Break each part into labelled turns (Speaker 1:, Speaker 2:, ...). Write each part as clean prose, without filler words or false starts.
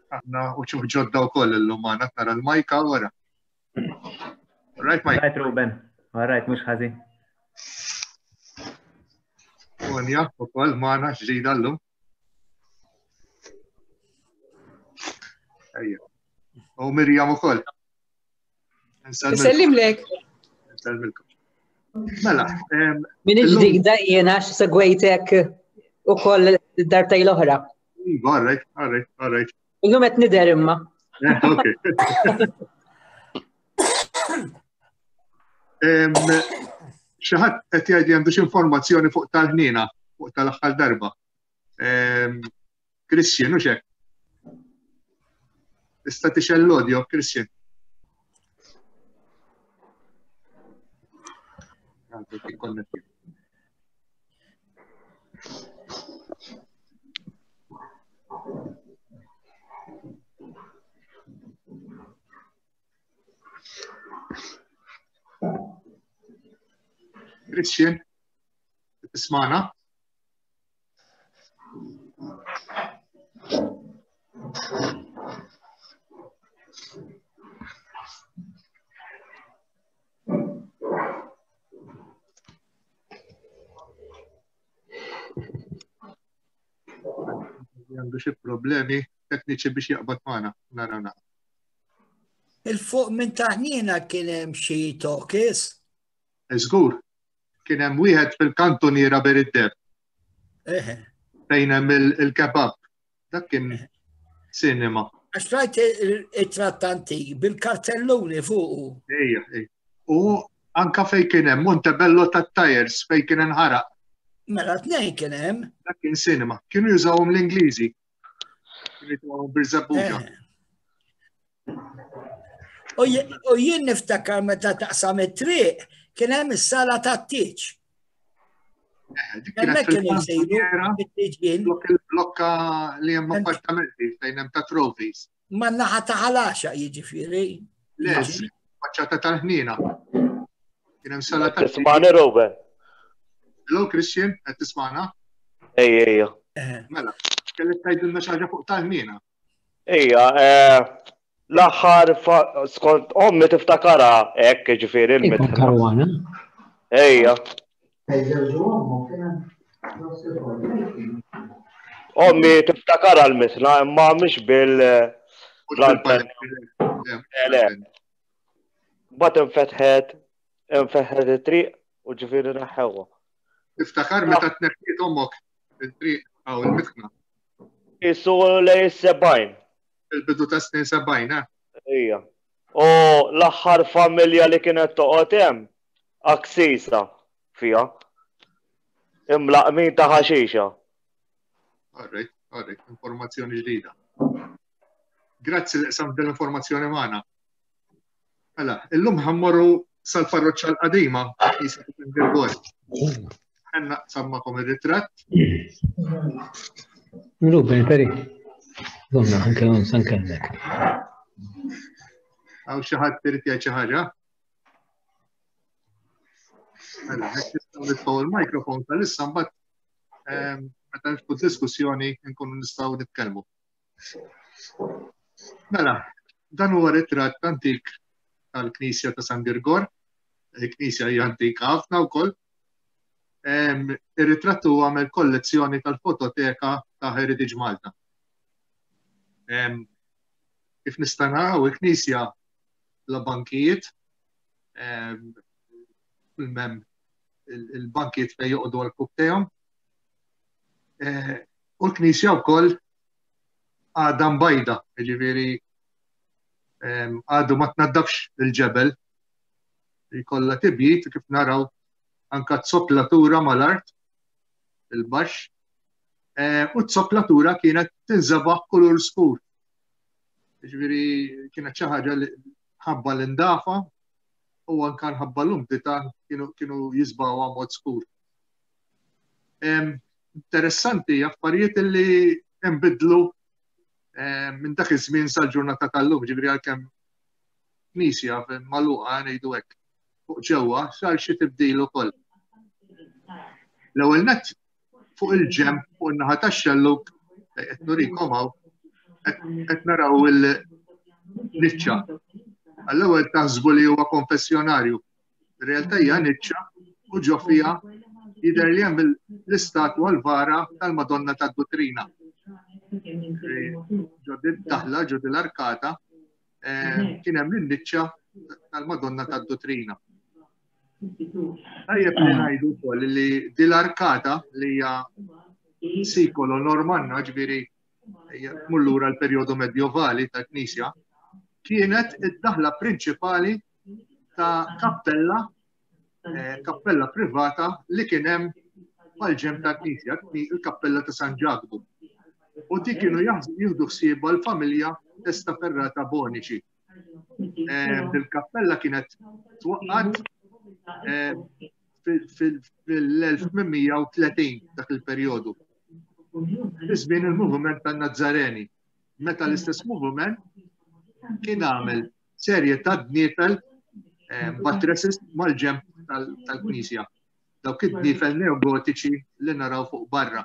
Speaker 1: Aħna u ċuħ ġodda u koll illum għana tara l-majka wara. Right, Mike.
Speaker 2: Right, Ruben. All right, mux ħażin.
Speaker 1: Onja, u koll maħna ġdida l-lum. Ejja. U Mirjam u koll.
Speaker 3: Nsellimlek.
Speaker 1: Nsellimlek. Mela.
Speaker 4: Min ġdida jiena segwejtek u koll dartaj l-oħra.
Speaker 1: Iva, all right, all right, all right.
Speaker 4: Illum qed nidher imma.
Speaker 1: Eh, ok. Xi ħadd qed jgħid li għandu xi informazzjoni fuq tal-ħniena fuq tal-aħħar darba. Christian, u xek? Tista' tixel l-audio, Christian. Christian, tismana? Għandu xi problemi tekniċi biex jaqbad magħna, nara nara.
Speaker 5: Il-fuq minn taħnina kien hemm xi tokis.
Speaker 1: Żgur, Kien hemm wieħed fil-kantuniera ber id-deb. Fejn hemm il-kebab. Dak kien cinema.
Speaker 5: Għax rajt it-trattanti bil-kartelluni fuqu.
Speaker 1: Ejja, ejja. U anka fej kien hemm Montebello tat-tires fej kien inħaraq.
Speaker 5: Mela tnejn kien hemm.
Speaker 1: Dak kien cinema. Kienu jużawhom l-Ingliżi. Kienu jużawhom bir-żebbuġa.
Speaker 5: Eh. U jien niftakar meta taqsam it-triq kien hemm is-sala tat-tieġ.
Speaker 1: Eh, hemmhekk kienu jsiru it-tieġ Il-blokka li hemm appartamenti fejn hemm ta' trophies.
Speaker 5: Ma naħa ta' ħalaxa jiġifieri.
Speaker 1: Le, faċċata tal-ħniena. Kien hemm sala
Speaker 6: ta' Tismani Ruben.
Speaker 1: Hello Christian, qed tismana?
Speaker 6: Ejja, ejja.
Speaker 1: Eh. Mela, kellek tgħidilna xi ħaġa fuq tal-ħniena.
Speaker 6: Ija, eh, l-aħħar skont ommi tiftakara hekk ġifieri
Speaker 7: il-mitħna. Karwana.
Speaker 6: Ejja. Ommi tiftakara l-mitħna imma mhix bil Le. Bat infetħet, infetħet it-triq u ġifieri neħħewha.
Speaker 1: Tiftakar meta tneħħiet ommok il-triq għaw il-mitħna.
Speaker 6: Isu lej sebajn.
Speaker 1: Il-bidu ta' snin sebajn, eh?
Speaker 6: Ija. U l-aħħar familja li kienet toqgħod hemm aksisa fiha. Imlaqmin ta' ħaxixa.
Speaker 1: Alright, alright, informazzjoni ġdida. Grazzi li qsamt l-informazzjoni magħna. Mela, illum ħammorru sal-parroċċa l-qadima, jisa Girgor. Ħenna sammakom ir-ritratt.
Speaker 7: Ruben, peri. Zomna, anke għon san kellek.
Speaker 1: Għaw xi ħadd irid jgħid xi ħaġa? Mela, hekk nistgħu nitfgħu il-mikrofon tal-issa mbagħad ehm, meta niftu diskussjoni nkunu nistgħu nitkellmu. Mela, dan huwa ritratt antik tal-Knisja ta' San Girgor, il-Knisja hija antika ħafna wkoll. Ir-ritratt huwa għamel kollezzjoni tal-fototeka ta' Heritage Malta. Kif nista' naraw il-Knisja la bankijiet, il-mem il-bankijiet fejn joqogħdu għal-kubtejhom. Eh, u l-Knisja wkoll għadha mbajda, jiġifieri għadu ma tnaddafx il-ġebel. Jkollha tibjid kif naraw anka t-soplatura mal-art il-baxx. Eh, u t-soplatura kienet tinżabaħ kulur skur. Jiġifieri kienet xi ħaġa li ħabba l-indafa u anka nħabba l-umdità kienu jisbawha mod skur. Interessanti affarijiet li nbidlu minn dak iż-żmien sal-ġurnata tal-lum, ġifieri għalkemm knisja magħluqa ngħidu hekk fuq ġewwa sar xi tibdil ukoll. L-ewwel nett. Fuq il-ġemp fuq in-naħa tax-xellug qed nurikom hawn qed naraw il-niċċa. Għall-ewwel taħsbu li huwa konfessjonarju. Ir-realtà hija niċċa u ġo fiha jidher li hemm l-istatwa l-vara tal-Madonna tad-Duttrina. Ġo daħla, ġo l-arkata, eh, kien hemm in-niċċa tal-Madonna tad-Duttrina. Tajjeb li ngħidu wkoll li dil-arkata li hija sikolo Normanna, ġifieri tmur lura l-perjodu medjovali tal-Knisja, kienet id-daħla prinċipali ta' kappella eh, kappella privata li kien hemm mal-ġem tal-Knisja, il-kappella ta' San Ġakbu. U dik kienu jieħdu ħsiebha l-familja Testaferrata Bonici. Eh, Bil-kappella kienet twaqqat eh, fil-1830 dak il-perjodu. Iż-żmien il-moviment tan-Nazzareni, meta l-istess moviment kien għamel serje ta' dniefel eh, buttresses mal-ġemp tal-knisja. Dawk id-dniefel neogotiċi li naraw fuq barra.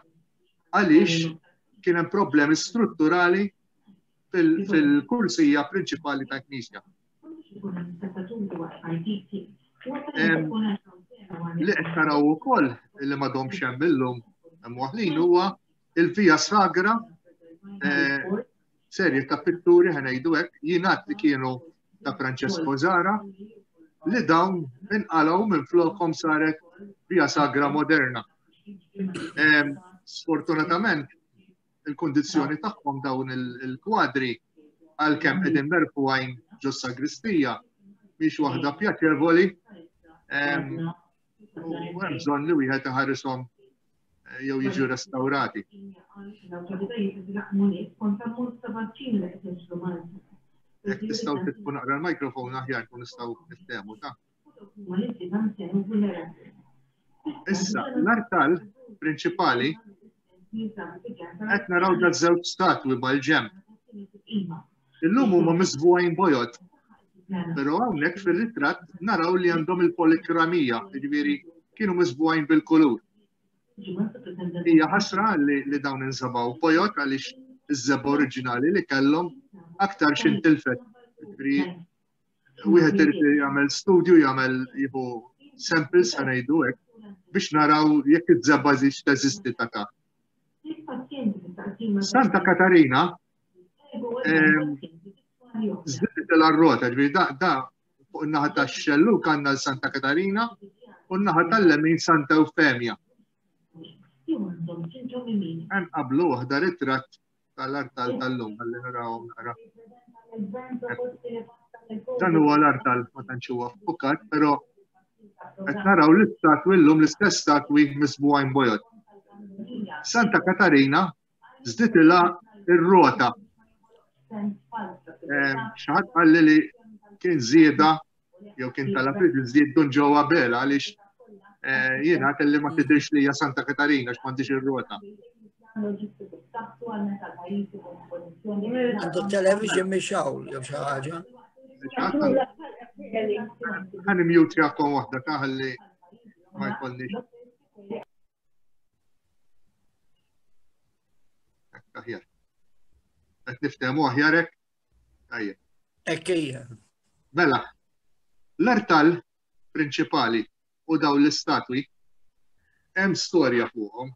Speaker 1: Għaliex kien hemm problemi strutturali fil-kursija prinċipali tal-Knisja. Li qed taraw ukoll li m'għadhomx hemm illum hemm waħlin huwa il-Via Sagra eh, serje ta' pitturi ħanejdu hekk jingħad li kienu ta' Francesco Zara li dawn inqalgħu minn flokhom saret Via Sagra moderna. Sfortunatament il-kundizzjoni tagħhom dawn il-kwadri għalkemm qegħdin merfugħin ġo sagristija mhix waħda pjaċevoli u hemm bżonn li wieħed iħarishom eh, jew jiġu restawrati. Jekk tistgħu titfu naqra l-mikrofon aħjar kun nistgħu niftehmu ta' Issa, l-artal prinċipali qed naraw da żewġ statwi mal-ġemp. Illum huma miżbugħin bojod. Però hawnhekk fir-ritratt naraw li għandhom il-polikramija, jiġifieri kienu miżbugħin bil-kulur. Hija ħasra li, li dawn inżabaw bojod għaliex iż-żebgħa oriġinali li kellhom aktar x'intilfet. Jiġifieri wieħed irid jagħmel studju, jagħmel jieħu samples ħa ngħidu hekk biex naraw jekk iż-żebgħa żiġ teżisti ta' taħt. Santa Katarina ehm, żdiet l-rota, ġifieri da da fuq in-naħa tax-xelluk għandna l-Santa Katarina u n-naħa tal-lemin Santa Eufemja. Hemm qablu waħda ritratt tal-artal tal-lum, għalli narawhom naqra. Dan huwa l-artal ma tantx huwa ffukat, però qed naraw l-istatwi llum l-istess statwi misbugħin bojod. Santa Katarina żditilha ir-rota. Eh, xi ħadd qalli li kien żieda jew kien talab li tiżdied Dun Ġo Abela għaliex eh, jiena kelli ma tidhirx li hija Santa Katarina għax m'għandix ir-rota.
Speaker 5: Għandu television mhix hawn jew xi ħaġa.
Speaker 1: Ħa mute jakom waħda ta' ħalli ma jkollniex. Aħjar. Qed niftehmu aħjar hekk? Tajjeb.
Speaker 5: Hekk hija.
Speaker 1: Mela, l-artal prinċipali u dawn l-istatwi hemm storja fuqhom.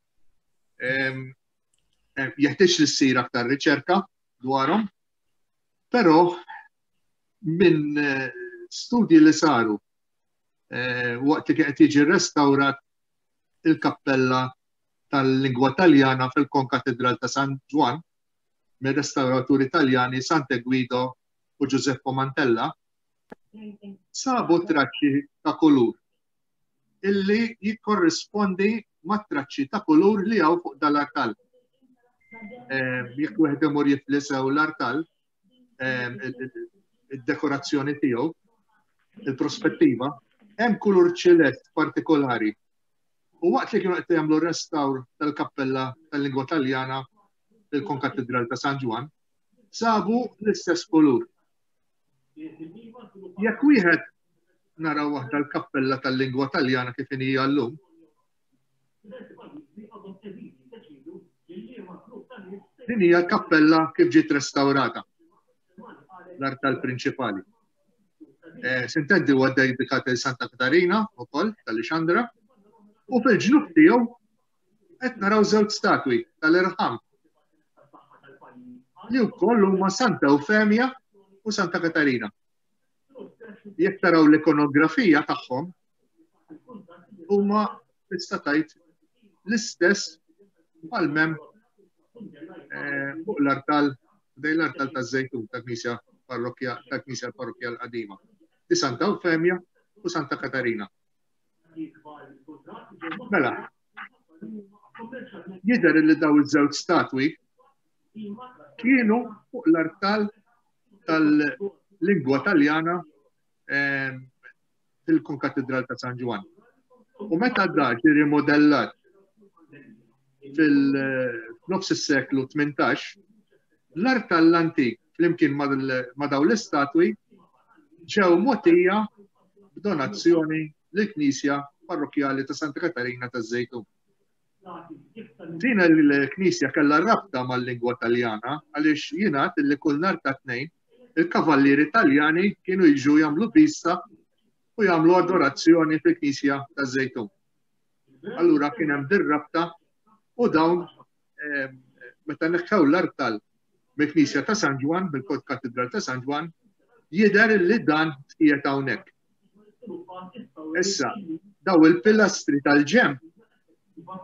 Speaker 1: Jeħtieġ li ssir aktar riċerka dwarhom, però minn eh, studji li saru eh, waqt li qed jiġi restawrat il-kappella tal-lingwa Taljana fil-Konkatedral ta' San Ġwann mir-restawraturi Taljani Sante Guido u Giuseppe Mantella, sabu traċċi ta' kulur illi jikkorrispondi ma' traċċi ta' kulur li hawn fuq dal-artal. Ehm, jekk wieħed imur jiflisew l-artal, ehm, id-dekorazzjoni tiegħu, il-prospettiva, hemm kulur ċelest partikolari U waqt li kienu qed jagħmlu restawr tal-kappella tal-lingwa Taljana fil-Konkatedral ta' San Ġwann, sabu l-istess kulur. Jekk wieħed naraw waħda l-kappella tal-lingwa Taljana kif inhi llum, Din hija l-kappella kif ġiet restawrata. L-artal prinċipali. Eh, Sintendi huwa dedikat il Santa Katarina ukoll tal-Ixandra u fil-ġnub tiegħu qed naraw żewġ statwi tal-irħam li wkoll huma Santa Eufemja u Santa Katarina. Jekk taraw l-ikonografija tagħhom huma tista' tgħid l-istess bħal mem eh, fuq l-artal dej l-artal ta' żejtun ta' knisja parrokkja ta' knisja parrokkja l-qadima. Di Santa Eufemja u Santa Katarina. Mela, jidher li daw iż-żewġ statwi kienu fuq l-artal tal-lingwa taljana ehm, fil-Konkatedral ta' San Ġwann. U meta da ġie rimodellat fil-nofs is-seklu 18, l-artal l-antik flimkien ma' daw l-istatwi ġew mogħtija b'donazzjoni lill-Knisja Parrokkjali ta' Santa Katarina taż-Żejtun. Din il-knisja kellha rabta mal-lingwa Taljana għaliex jingħad li kull nhar ta' tnejn il-kavallieri Taljani kienu jiġu jagħmlu vista u jagħmlu adorazzjoni fil-knisja taż-Żejtun. Allura kien hemm dir-rabta u dawn eh, meta neħħew l-artal mill-Knisja ta' San Ġwann, bil-Kod Katedral ta' San Ġwann, jidher li dan qiegħed hawnhekk. Issa, daw il-pilastri tal-ġemp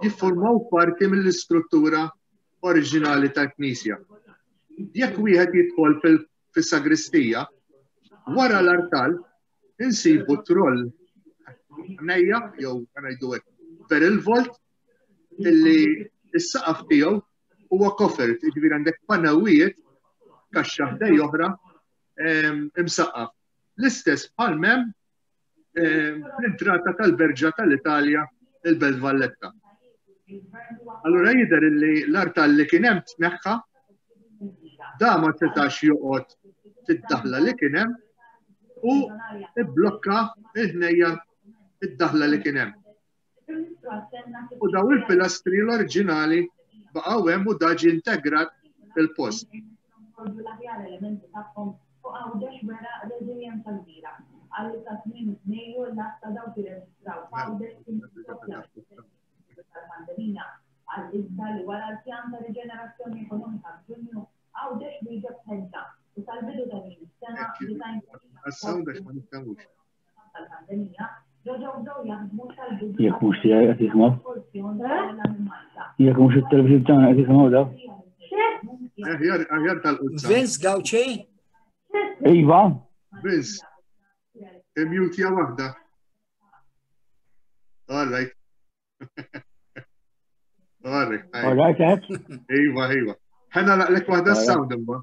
Speaker 1: jiffurmaw parti mill-istruttura oriġinali tal-Knisja. Jekk wieħed jidħol fis-sagristija, wara l-artal insibu troll nejja jew ngħidu hekk per il-volt illi s-saqaf tiegħu huwa kofert, jiġifieri għandek panewijiet kaxxa ħdej oħra imsaqqaf. L-istess bħal mem l-entrata tal-Berġa tal-Italja il-Belt Valletta. Allura jidher illi l-artal li kien hemm tneħħa da ma setax joqgħod fid-daħla li kien hemm u ibblokka il-ħnejja id-daħla li kien hemm. U daw il-pilastri l-oriġinali baqgħu hemm u daġi integrat fil-post. Għas-sound għax ma niftehmux.
Speaker 7: Jekk mhux tiegħi qed jisimgħu. Jekk mhux it-television tagħna qed jisimgħu daw.
Speaker 1: Aħjar tal-qudsa.
Speaker 5: Vince Gauci?
Speaker 7: Iva.
Speaker 1: Vince. Imjutja waħda. All right. All right.
Speaker 7: All right,
Speaker 1: Iva, iva. Ħena laqlek waħda s-sound imma.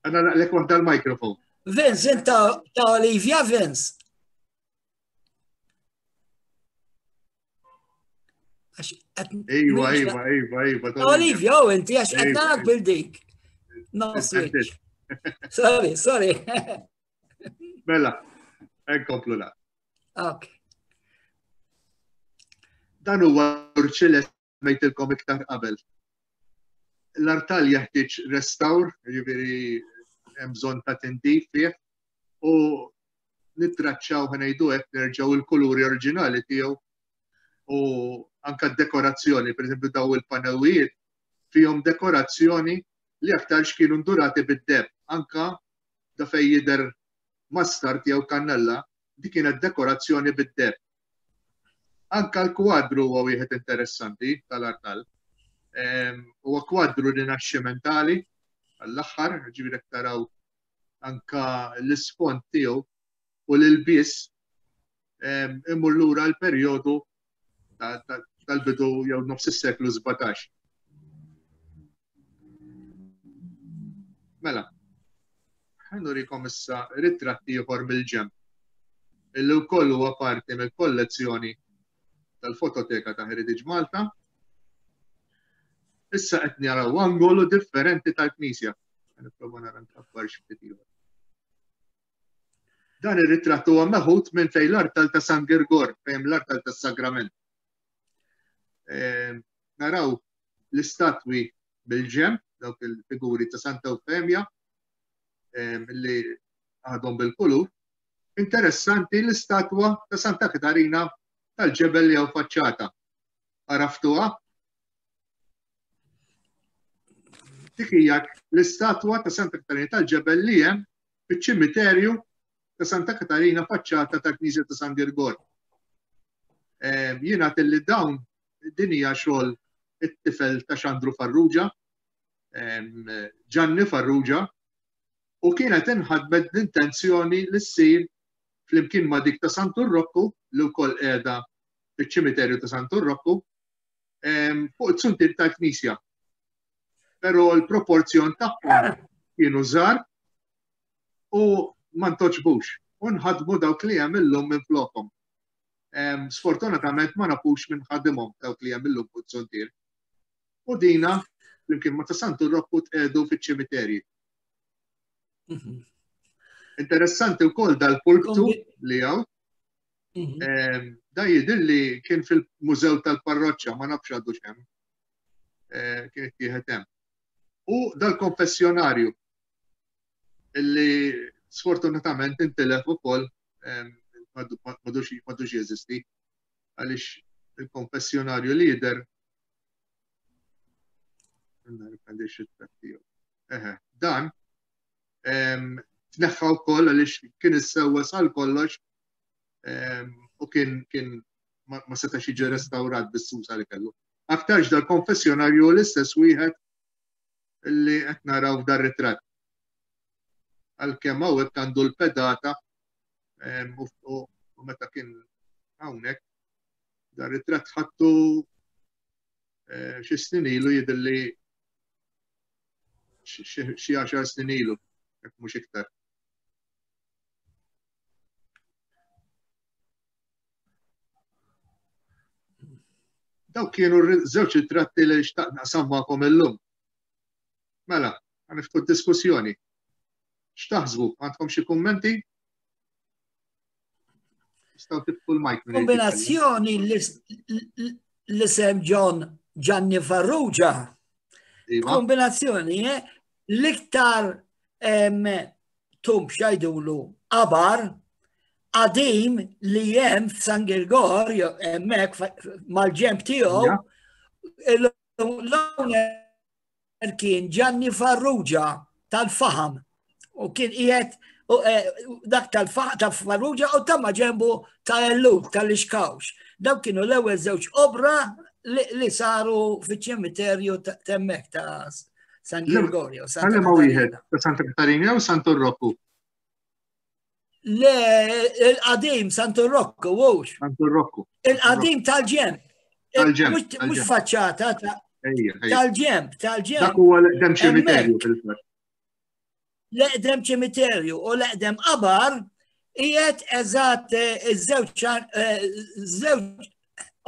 Speaker 1: Ħena laqlek waħda l-mikrofon.
Speaker 5: Vince, inta ta' Olivia Vince.
Speaker 1: Iva, iva, iva, iva.
Speaker 5: Olivia, u inti għax qed narak bil-dik. No switch. Sorry, sorry.
Speaker 1: Mela, nkomplu la.
Speaker 5: Ok.
Speaker 1: Dan huwa urċile mejtilkom iktar qabel. L-artal jeħtieġ restawr, jiġifieri hemm bżonn ta' tindif fih u nittraċċaw ħanejdu hekk nerġgħu il-kuluri oriġinali tiegħu u anka d-dekorazzjoni, per eżempju daw il-panewijiet fihom dekorazzjoni li aktarx kienu ndurati bid-deb, anka da fej jidher mastard jew kannella, dik kienet dekorazzjoni bid-deheb. Anka l-kwadru huwa wieħed interessanti tal-artal. Ehm, huwa kwadru rinaxximentali għall-aħħar, ġifieri taraw anka l-isfond tiegħu u l-ilbies ehm, imur lura l-perjodu tal-bidu jew nofs is-seklu 17. Mela, ħanurikom issa ritratti ieħor mill-ġemp illi wkoll huwa parti mill-kollezzjoni tal-fototeka ta' Heritage Malta. Issa qed naraw angolu differenti tal-knisja. Nipprova nara nkabbar xi ftit ieħor. Dan ir-ritratt huwa meħud minn fejn l-artal ta' San Girgor, fejn l-artal tas-Sagrament. Ehm, naraw l-istatwi bil-ġemp. dawk il-figuri ta' Santa Eufemja li għadhom bil-kulur. Interessanti l-istatwa ta' Santa Katarina tal-ġebel li hawn faċċata. Għaraftuha? Dik hija l-istatwa ta' Santa Katarina tal-ġebel li hemm fiċ-ċimiterju ta' Santa Katarina faċċata tal-Knisja ta' San Girgor. Jiena li dawn din hija xogħol it-tifel ta' Xandru Farrugia, Ġanni Farrugia, u kienet inħadmet bl-intenzjoni li ssir flimkien ma' dik ta' Santu Rokku li wkoll qiegħda fiċ-ċimiterju ta' Santu Rokku fuq it-suntier tal-Knisja. Però l-proporzjon tagħhom kienu żgħar u ma ntoġbux u nħadmu dawk li hemm illum minn flokhom. Sfortunatament ma nafux minn ħadimhom dawk li hemm illum fuq it-suntier. U dina flimkien ma ta' Santu Rokku tqegħdu fiċ-ċimiterji. Mhm. Interessanti wkoll dal-pulptu li hawn. Mhm. Da jidher li kien fil-Mużew tal-Parroċċa, ma nafx għadu xem. Eh, kien ittieħed hemm. U dal-konfessjonarju illi sfortunatament intilef ukoll madux jeżisti għaliex il-konfessjonarju li jidher Eħe, dan tneħħa wkoll għaliex kien issewwa sal kollox u kien kien ma setax jiġi restawrat bis-susa li kellu. Aktarx dal-konfessjonarju l-istess wieħed li qed naraw f'dar ritratt. Għalkemm hawnhekk għandu l-pedata u meta kien hawnhekk dar ritratt ħattu eh, xi snin ilu jidhirli xi għaxar snin ilu, jekk mhux iktar. Dawk kienu żewġ ritratti li xtaqt naqsam magħkom illum. Mela, għaniftu diskussjoni. X'taħsbu? Għandkom xi kummenti? Nistgħu tiftu l-mic.
Speaker 5: Kombinazzjoni l-isem John Gianni Farrugia. Iva. Kombinazzjoni, eh? l-iktar tumb xajdulu qabar qadim li jem f'San Girgor, hemmhekk mal-ġemp tiegħu, l-owner kien Gianni Farrugia tal-Faham u kien qiegħed eh, dak tal-Faham ta' Farrugia u ta' maġenbu ta' Ellul tal-Ixkawx. Dawk kienu l-ewwel żewġ obra li saru fiċ-ċimiterju temmek ta' San Gregorio.
Speaker 1: Għalli ma wieħed ta' Santa Katarina jew Santu Rocco?
Speaker 5: Le, il-qadim Santu Rocco, wux.
Speaker 1: Santu Rocco.
Speaker 5: Il-qadim tal-ġemp.
Speaker 1: Tal-ġemp.
Speaker 5: Mux faċċata tal-ġemp, tal-ġemp.
Speaker 1: Dak huwa l-eqdem ċimiterju fil-fatt.
Speaker 5: L-eqdem ċimiterju u l-eqdem qabar qiegħed eżatt eh, iż-żewġ eh, żewġ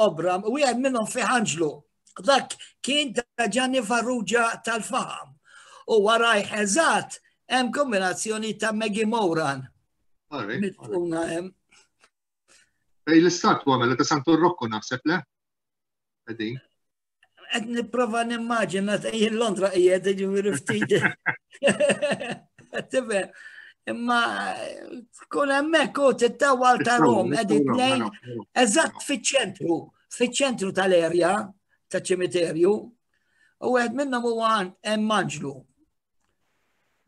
Speaker 5: obra u wieħed minnhom fi Anġlu. Dak kien ta' Gianni Farrugia tal-Faham. U warajh eżatt hemm kombinazzjoni ta' Maggie Moran.
Speaker 1: Mitfuna hemm. Fej l-istatwa mela ta' Santu Rocco naħseb le? Qegħdin.
Speaker 5: Qed nipprova nimmaġina jien Londra qiegħed jiġifieri ftit. Tifhem. Imma tkun hemmhekk u tittawal ta' Rom qegħdin tnejn eżatt fiċ-ċentru, fiċ-ċentru tal-erja taċ-ċimiterju. U wieħed minnhom huwa hemm Anġlu.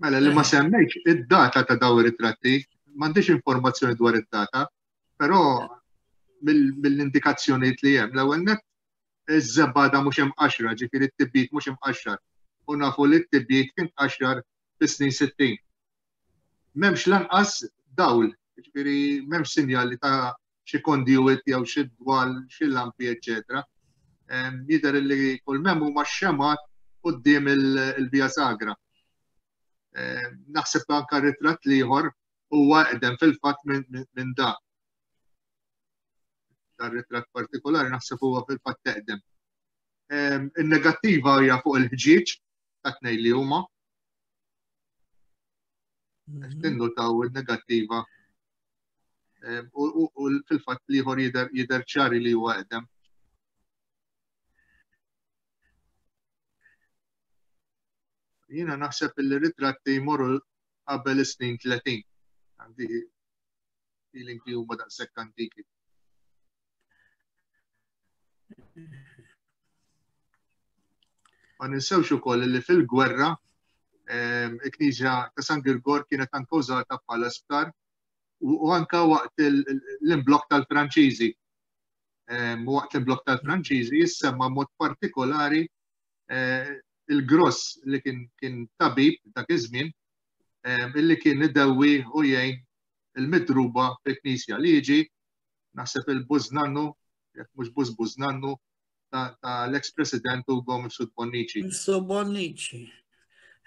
Speaker 1: Mela li ma semmejx id-data ta' daw ir-ritratti, m'għandix informazzjoni dwar id-data, però mill-indikazzjonijiet li hemm l-ewwel net iż-żebgħa mhux imqaxra, ġifieri t-tibjid mhux imqaxxar. U nafu li t-tibjid kien tqaxxar fis-snin 60. M'hemmx lanqas dawl, ġifieri m'hemmx sinjali ta' xi conduit jew xi dwal, xi lampi, eċċetera. Jidher li kull m'hemm huma xemgħat quddiem il-Via Sagra. Naħseb anka ritratt l-ieħor huwa eqdem fil-fatt minn dak. Dan ritratt partikolari naħseb huwa fil-fatt eqdem. In-negattiva hija fuq il-ħġieġ ta' tnejn li huma. Mhm. Tinnutaw il-negattiva u fil-fatt liħor jidher ċari li huwa eqdem. Jiena naħseb li ritratti jmorru qabel is-snin 30. Għandi feeling li huma daqshekk antiki. Ma ninsewx ukoll li fil-gwerra ehm, il-Knisja ta' San Girgor kienet anke użata bħala sptar u anka waqt l-imblok tal-Franċiżi. Ehm, waqt l-imblok tal-Franċiżi jissemma mod partikolari eh, il-gross li kien kien tabib dak iż-żmien ehm, illi kien idewwi u jgħin il-midruba fil-knisja li jiġi naħseb il-bużnannu, jekk mhux bużbużnannu ta' l-ex-president Ugo Mifsud Bonnici.
Speaker 5: Mifsud Bonnici.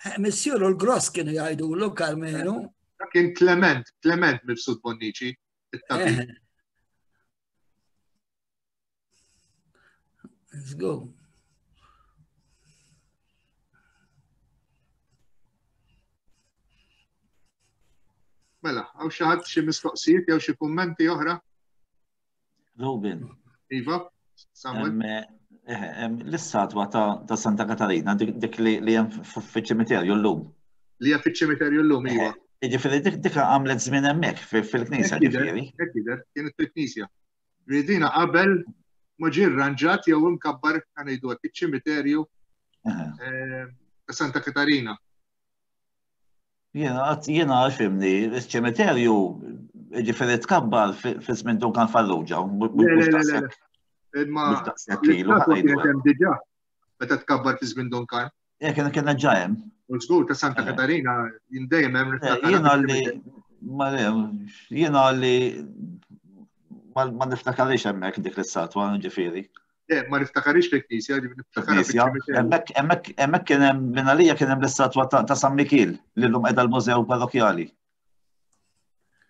Speaker 5: Eh, Missjuru l-gross kienu jgħidulu Karmenu.
Speaker 1: Kien Clement, Clement Mifsud Bonnici, it-tabib. Eh.
Speaker 5: Let's go.
Speaker 1: Mela, għaw xi ħadd xi mistoqsijiet jew xi kummenti oħra?
Speaker 3: Robin.
Speaker 1: Iva, Samuel.
Speaker 3: Eh, eh, l-istatwa ta' Santa Katarina, dik li hemm fiċ-ċimiterju llum.
Speaker 1: Li hemm fiċ-ċimiterju llum, iva.
Speaker 3: Eh, ġifieri dik għamlet żmien hemmhekk fil-knisja,
Speaker 1: ġifieri. Hekk jidher, kienet fil-knisja. Ridina qabel ma ġie rranġat jew imkabbar ngħidu hekk iċ-ċimiterju eh, ta' Santa Katarina.
Speaker 3: Jiena jiena fimni, iċ-ċimiterju ġifieri tkabbar fi żmien Duncan Farrugia.
Speaker 1: Le, le, le, le. Imma kienet hemm diġà meta tkabbar fi żmien Duncan.
Speaker 3: Eh, kien kien ġa hemm.
Speaker 1: U żgur ta' Santa eh. Katarina jien dejjem hemm
Speaker 3: eh, Jiena li ma jiena li ma niftakarix hemmhekk dik l-istatwa ġifieri.
Speaker 1: Eh, ma niftakarix fil-knisja,
Speaker 3: niftakar Hemmhekk hemmhekk kien hemm minn għalija kien hemm l-istatwa ta' San Mikil li llum qiegħda l-Mużew Parrokjali.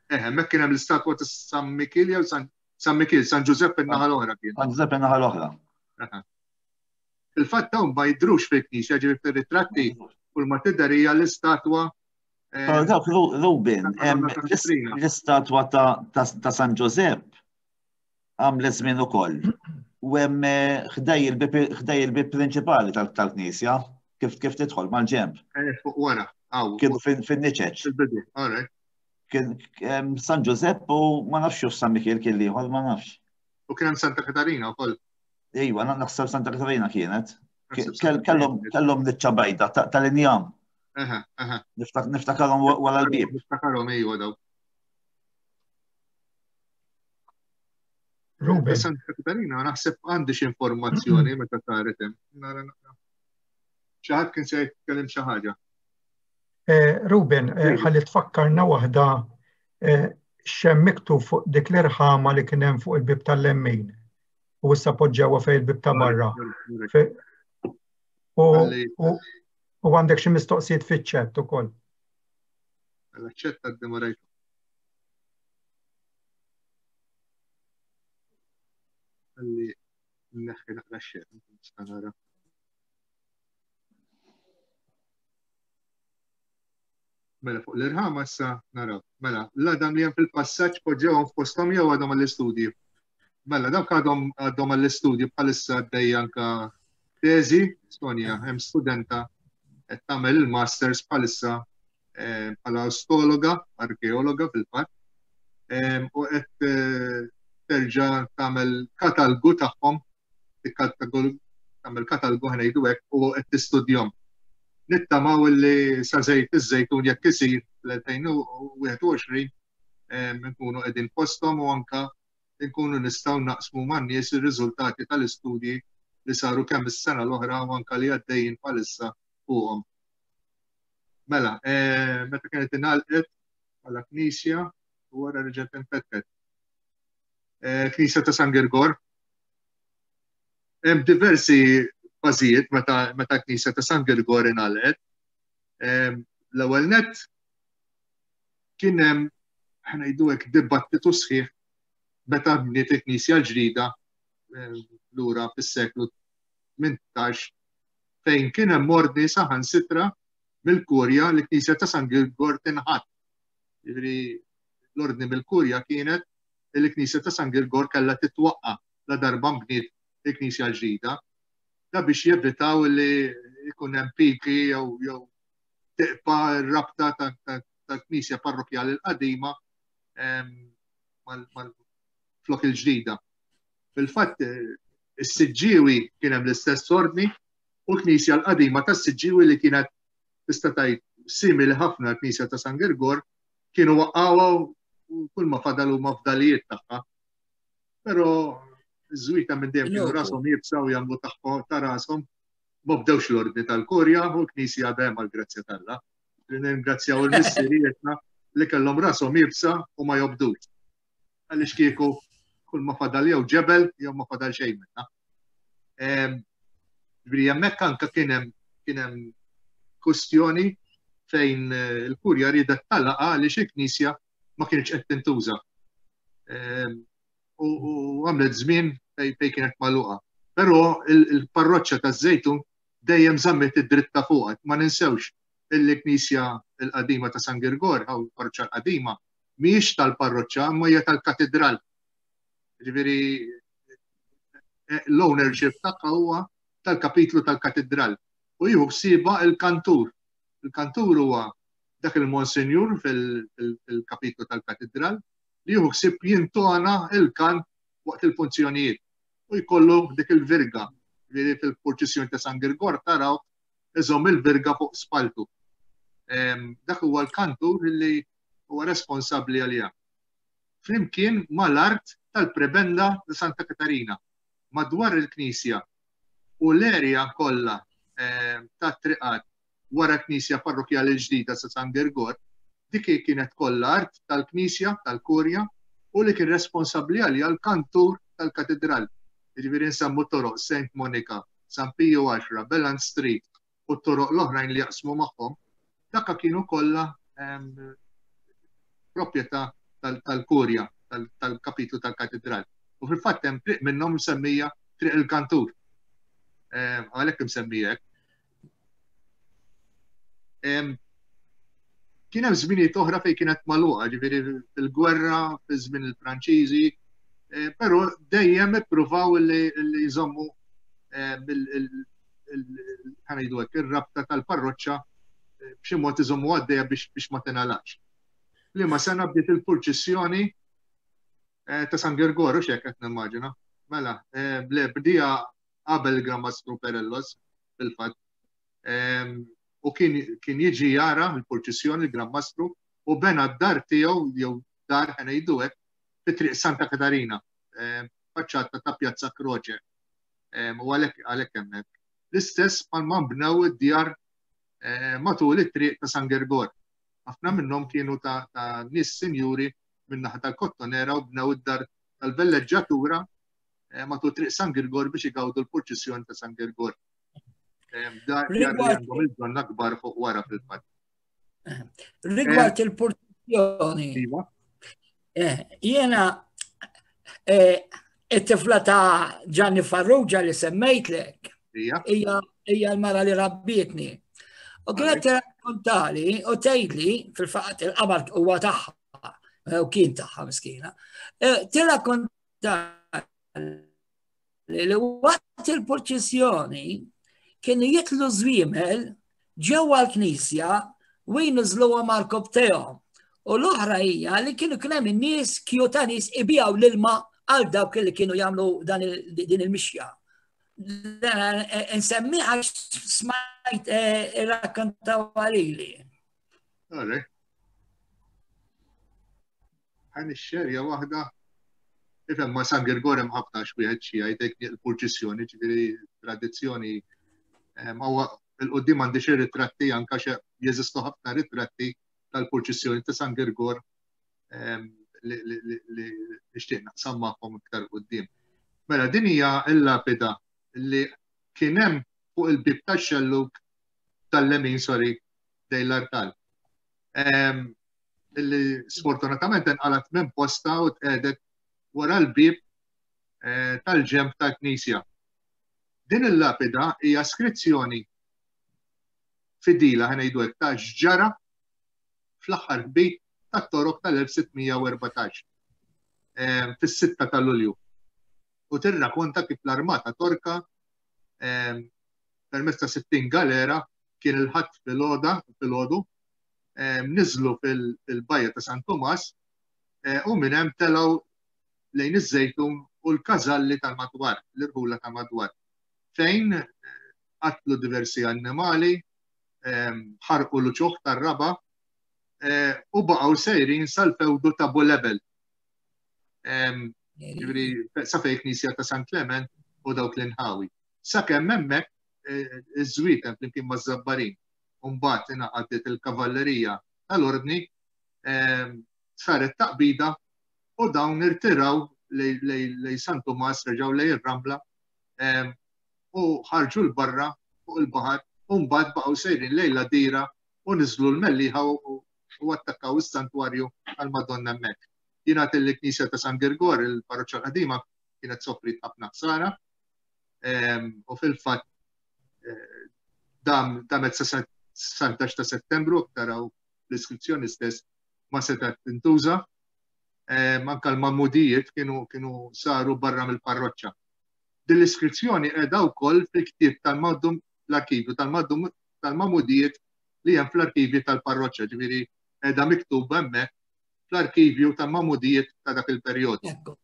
Speaker 1: Eh, hemmhekk kien hemm l-istatwa ta' San Mikil jew San Mikil, San Ġużepp in-naħa l-oħra
Speaker 3: kien. San Ġużepp in-naħa l-oħra.
Speaker 1: Il-fatt dawn ma jidhrux fil-knisja, ġifieri fir-ritratti kull ma tidher hija l-istatwa.
Speaker 3: Eh, dawk Rubin, l-istatwa ta' San Ġużepp għamlet żmien ukoll. U hemm eh, ħdej il-bib prinċipali tal-knisja, kif kif tidħol mal-ġemp.
Speaker 1: Eh, fuq wara.
Speaker 3: Kienu fin-niċeċ.
Speaker 1: Fil-bidu, all right.
Speaker 3: Kien San Ġużepp u ma nafx San Mikiel kien liħor, ma nafx.
Speaker 1: U kien hemm Santa Katarina wkoll.
Speaker 3: Iva, naħseb Santa Katarina kienet. Kellhom kellhom niċċa bajda tal-injam. Niftakarhom wara l-bib.
Speaker 1: Niftakarhom iva daw.
Speaker 8: Ruben.
Speaker 1: Santa Katarina naħseb għandi xi informazzjoni meta saret hemm. Nara naqra. Xi ħadd kien se jitkellem xi ħaġa.
Speaker 8: Eh, Ruben, eh, ħalli tfakkarna waħda eh, xem miktub fuq dik l-irħama li kien hemm fuq il-bib tal-lemmin u issa poġġewha fejn il-bib ta' barra. U għandek xi mistoqsijiet fiċ-ċett ukoll.
Speaker 1: Mela ċett għaddi ma rajtu. Għalli neħħi naqra xejn, nista' nara. Mela fuq l-irħama issa naraw. Mela, l-għadam li hemm fil-passaġġ poġġewhom f'posthom jew għadhom għall-istudji. Mela, dawk għadhom għadhom għall-istudju bħalissa għaddej anka teżi, Sonja, hemm studenta qed tagħmel il-masters bħalissa eh, bħala ostologa, arkeologa fil-fatt, eh, u qed eh, terġa' tagħmel katalgu tagħhom tagħmel katalgu ħnejdu hekk u qed tistudjhom. Nittamaw li sa żejt iż-żejtun jekk isir fl-2021 nkunu qegħdin posthom u anka nkunu nistgħu naqsmu man-nies ir-riżultati tal-istudji li saru kemm is-sena l-oħra u anka li għaddejjin bħalissa fuqhom. Mela, eh, meta kienet ingħalqet bħala knisja u wara reġgħet infetħet. Eh, knisja ta' San Girgor, Hemm diversi fażijiet meta meta knisja ta' San Girgor ingħalqet. Ehm, l-ewwel nett kien hemm ħnejdu hekk dibattitu sħiħ meta bniet il-knisja l-ġdida ehm, lura fis-seklu 18 fejn kien hemm ordni saħansitra mill-kurja li knisja ta' San Girgor tinħatt. Jiġifieri l-ordni mill-kurja kienet li l-knisja ta' San Girgor kellha titwaqqa' la darba nbniet il-knisja l-ġdida, da biex jevitaw li jkun hemm piki jew jew Tibqa' r-rabta tal-Knisja Parrokkjali l-qadima mal-flok il-ġdida. Fil-fatt, is-Siġġiewi kien hemm l-istess ordni u l-Knisja l-qadima tas-Siġġiewi li kienet tista' tgħid simili ħafna l-Knisja ta' San Girgor kienu waqqgħuha u kull ma fadal huma fdalijiet tagħha. Però iż-żwita minn dejjem kienu rashom iebsa u jagħmlu tagħhom ta' rashom ma bdewx l-ordni tal-kurja u l-Knisja għadha hemm għall-grazzja t'Alla. Nirringrazzjaw il-missirietna li kellhom rashom iebsa u ma jobdux. Għaliex kieku kull ma fadal jew ġebel jew ma fadal xejn minna. Ġifieri hemmhekk anke kien hemm kien hemm kustjoni fejn eh, il-kurja riedet talaqa għaliex il-knisja ma kienx qed tintuża. U għamlet żmien fejn kienet magħluqa. Però il-parroċċa taż-Żejtun dejjem żammet id-dritt ta' fuqha. Ma ninsewx il-knisja l-qadima ta' San Girgor, għaw il-parroċċa l-qadima, mhijiex tal-parroċċa, imma hija tal-katedral. Ġifieri l-ownership tagħha huwa tal-kapitlu tal-katedral u jieħu ħsiebha il-kantur. Il-kantur huwa dak il-monsinjur fil-kapitlu tal-katedral li jieħu ħsieb jintona il-kant waqt il-funzjonijiet u jkollu dik il-virga li fil-purċissjoni ta' San Girgor taraw iżomm il-virga fuq spaltu. Dak huwa l-kantur li huwa responsabbli għaliha. Flimkien mal-art tal-prebenda ta' Santa Katarina madwar il-knisja u l-erja kollha eh, tat-triqat wara knisja parrokjali l-ġdida sa' San Girgor, dik kienet kollha art tal-knisja tal-kurja u li kien responsabbli għaliha l-kantur tal-katedral. Jiġifieri nsemmu toroq Saint Monica, San Piju 10, Beland Street u t-toroq l-oħrajn li jaqsmu magħhom, dakka kienu kollha proprjetà tal-kurja tal-kapitlu tal-katedral. U fil-fatt hemm triq minnhom msemmija Triq il-Kantur. Għalhekk imsemmija hekk. Kien hemm żminijiet oħra fejn kienet magħluqa, ġifieri fil-gwerra, fi żmien il-Franċiżi, eh, però dejjem ippruvaw li jżommu eh, ħanajdu hekk ir-rabta tal-parroċċa eh, b'xi mod iżommu għaddejja biex ma tingħalaqx. Liema sena bdiet il-purċissjoni ta' San Girgoru x'hekk qed nimmaġina. Mela, le bdija qabel il-Gran Mastru Perellos fil-fatt. U kien kien jiġi jara l-purċissjoni l-Gran Mastru u bena d-dar tiegħu jew dar ħa ngħidu hekk fi triq Santa Katarina, faċċata ta' Pjazza Croce. U għalhekk għalhekk hemmhekk. L-istess bħalma nbnew id-djar matul it-triq ta' San Girgor. Ħafna minnhom kienu ta' nies sinjuri min-naħa tal-Kottonera u bnew id-dar tal-velleġġatura matul triq San Girgor biex igawdu l-purċissjoni ta' San Girgor. Dar li għandhom il-bżonn akbar fuq wara fil-fatt.
Speaker 5: Rigward il-purċissjoni. Iva. Jiena it-tifla ta' Gianni Farrugia li semmejtlek. Hija l-mara li rabbietni. U kienet tirrakkontali u tgħidli fil-fatt il-qamar huwa tagħha u kien tagħha miskina. Tirrakkontali li waqt il-purċissjoni kienu jitlu żwiemel ġewwa l-knisja u jniżluhom għal tehom. U l-oħra hija li kienu kien hemm in-nies kju ta' nies ibijaw l-ilma għal dawk li kienu jagħmlu din il-mixja. Nsemmi għax smajt eh, irrakkontaw għalili.
Speaker 1: Ħa nixxerja waħda. Ifhem ma' San Girgor hemm ħafna x'wieħed xi jgħid il-purċissjoni, ġifieri tradizzjoni huwa il-qudiem għandi xi ritratti anke xi jeżistu ħafna ritratti tal-purċissjoni ta' San Girgor li nixtieq naqsam magħkom iktar quddiem. Mela din hija l-lapida li kien hemm fuq il-bib tax-xellug tal-lemin, sorry, dej l-artal. Illi sfortunatament inqalat minn posta u tqedet wara l-bib eh, tal-ġemp tal-knisja. Din il-lapida hija skrizzjoni fidila ħanejdu hekk ta' x'ġara fl-aħħar ħbit tat-torok tal-1614 eh, fis-6 ta' Lulju. U tirrakonta kif l-armata Torka eh, permezz ta' 60 galera Kien il-Ħadd filgħoda, filgħodu, niżlu fil-bajja ta' San Tumas eh, u minn hemm telgħu lejn iż-Żejtun u l-każalli tal-madwar, l-irħula ta' madwar, fejn eh, qatlu diversi annimali, ħarqu l-uċuħ tar-raba eh, u baqgħu sejrin sal-fewdu ta' Bulebel. Ġifieri sa fejn knisja ta' San Clement u dawk l-inħawi. Sakemm hemmhekk eh, iż-żwieten flimkien maż-Żabbarin u mbagħad ingħaqadet il-kavallerija tal-Ordni saret taqbida u dawn irtiraw lej San Tumas reġgħu lej ir-Ramla u ħarġu l-barra fuq il-baħar u mbagħad baqgħu sejrin lejn l-Għadira u niżlu l-Mellieħa u attakkaw is-santwarju tal-Madonna hemmhekk. Jingħad li l-Knisja ta' San Girgor, il-parroċċa l-qadima, kienet sofriet ħafna ħsara u fil-fatt eh, dam damet sa 19 ta' Settembru taraw l-iskrizzjoni stess ma setgħet tintuża. Anka l-mamudijiet kienu kienu saru barra mill-parroċċa. Din l-iskrizzjoni qiegħda wkoll fil-ktieb tal-Maddum l-arkivju tal-Maddum tal-Mamudijiet li hemm fl-arkivji tal-parroċċa, ġifieri qiegħda miktuba hemmhekk fl-arkivju tal-Mamudijiet ta' dak il-perjodu.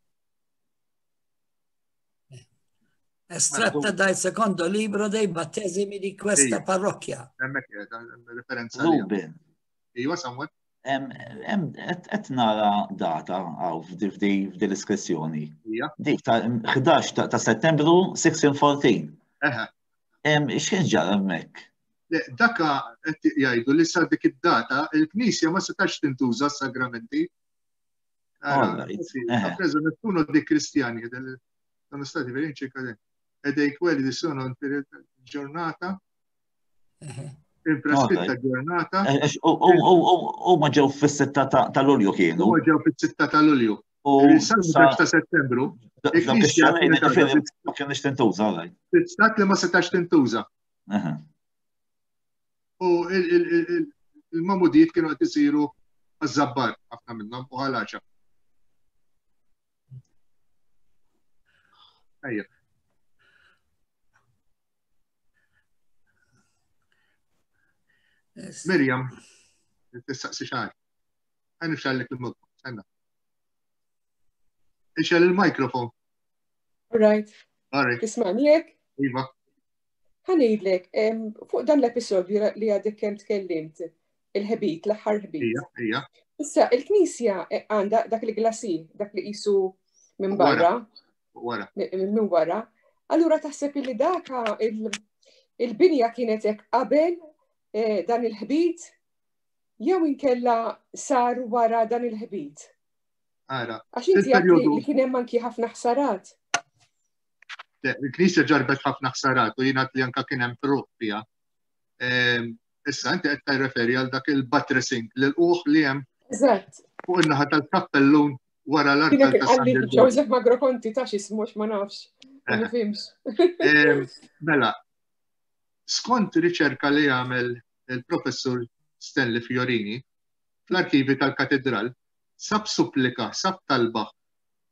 Speaker 5: Estratta dal secondo libro dei battesimi di questa parrocchia.
Speaker 1: Hemmhekk qiegħda referenza.
Speaker 3: Ruben.
Speaker 1: Iva, Samuel.
Speaker 3: Qed nara data għaw f'di l-iskrizzjoni. Dik ta' 11 ta' Settembru 1614. X'kien ġara hemmhekk?
Speaker 1: Daka qed jgħidu li sa dik id-data il-Knisja ma setax tintuża s-sagramenti. Preso nessuno dei cristiani sono stati per circa e dei quelli di sono giornata Il-preskritta ġurnata.
Speaker 3: Eh, u ma ġew fis-sitta ta' Lulju kienu.
Speaker 1: U ġew fis-sitta ta' Lulju. U sa' settembru.
Speaker 3: Ma kienx tintuża, għaj.
Speaker 1: Stat li ma setax tintuża. U il-mamudijiet kienu qed isiru għaż-żabbar ħafna minnhom u ħalaċa. Ejja. Miriam, tistaqsi xar. Għan nifxallek il-mokku, senna. Ixel il-mikrofon.
Speaker 9: All right.
Speaker 1: All right.
Speaker 9: Tismani jek?
Speaker 1: Iva.
Speaker 9: Ħanejdlek, fuq dan l-episodju li għadek kemm tkellimt, il-ħbit, l-aħħar ħbit.
Speaker 1: Ija, ija.
Speaker 9: Issa, il-knisja eh, għandha dak il-glasi, dak li qisu minn barra.
Speaker 1: Wara.
Speaker 9: Minn wara. Allura taħseb li daka il-binja kienet hekk qabel eh, dan il-ħbit jew inkella sar wara dan il-ħbit.
Speaker 1: Ara.
Speaker 9: Għax inti li kien hemm anki ħafna ħsarat.
Speaker 1: Il-Knisja ġarbet ħafna ħsarat u jiena li anka kien hemm fruq fiha. Ehm, issa inti qed tirreferi għal dak il-buttressing l-uħ li hemm
Speaker 9: Eżatt.
Speaker 1: Fuq in-naħa tal-kappellun wara l-artal
Speaker 9: ta' San Joseph Magro Conti ta' x'ismu ma nafx. Ma eh. nifhimx.
Speaker 1: Ehm, mela, skont riċerka li għamel il-professur Stanley Fiorini fl-arkivi tal-katedral, sab supplika, sab talba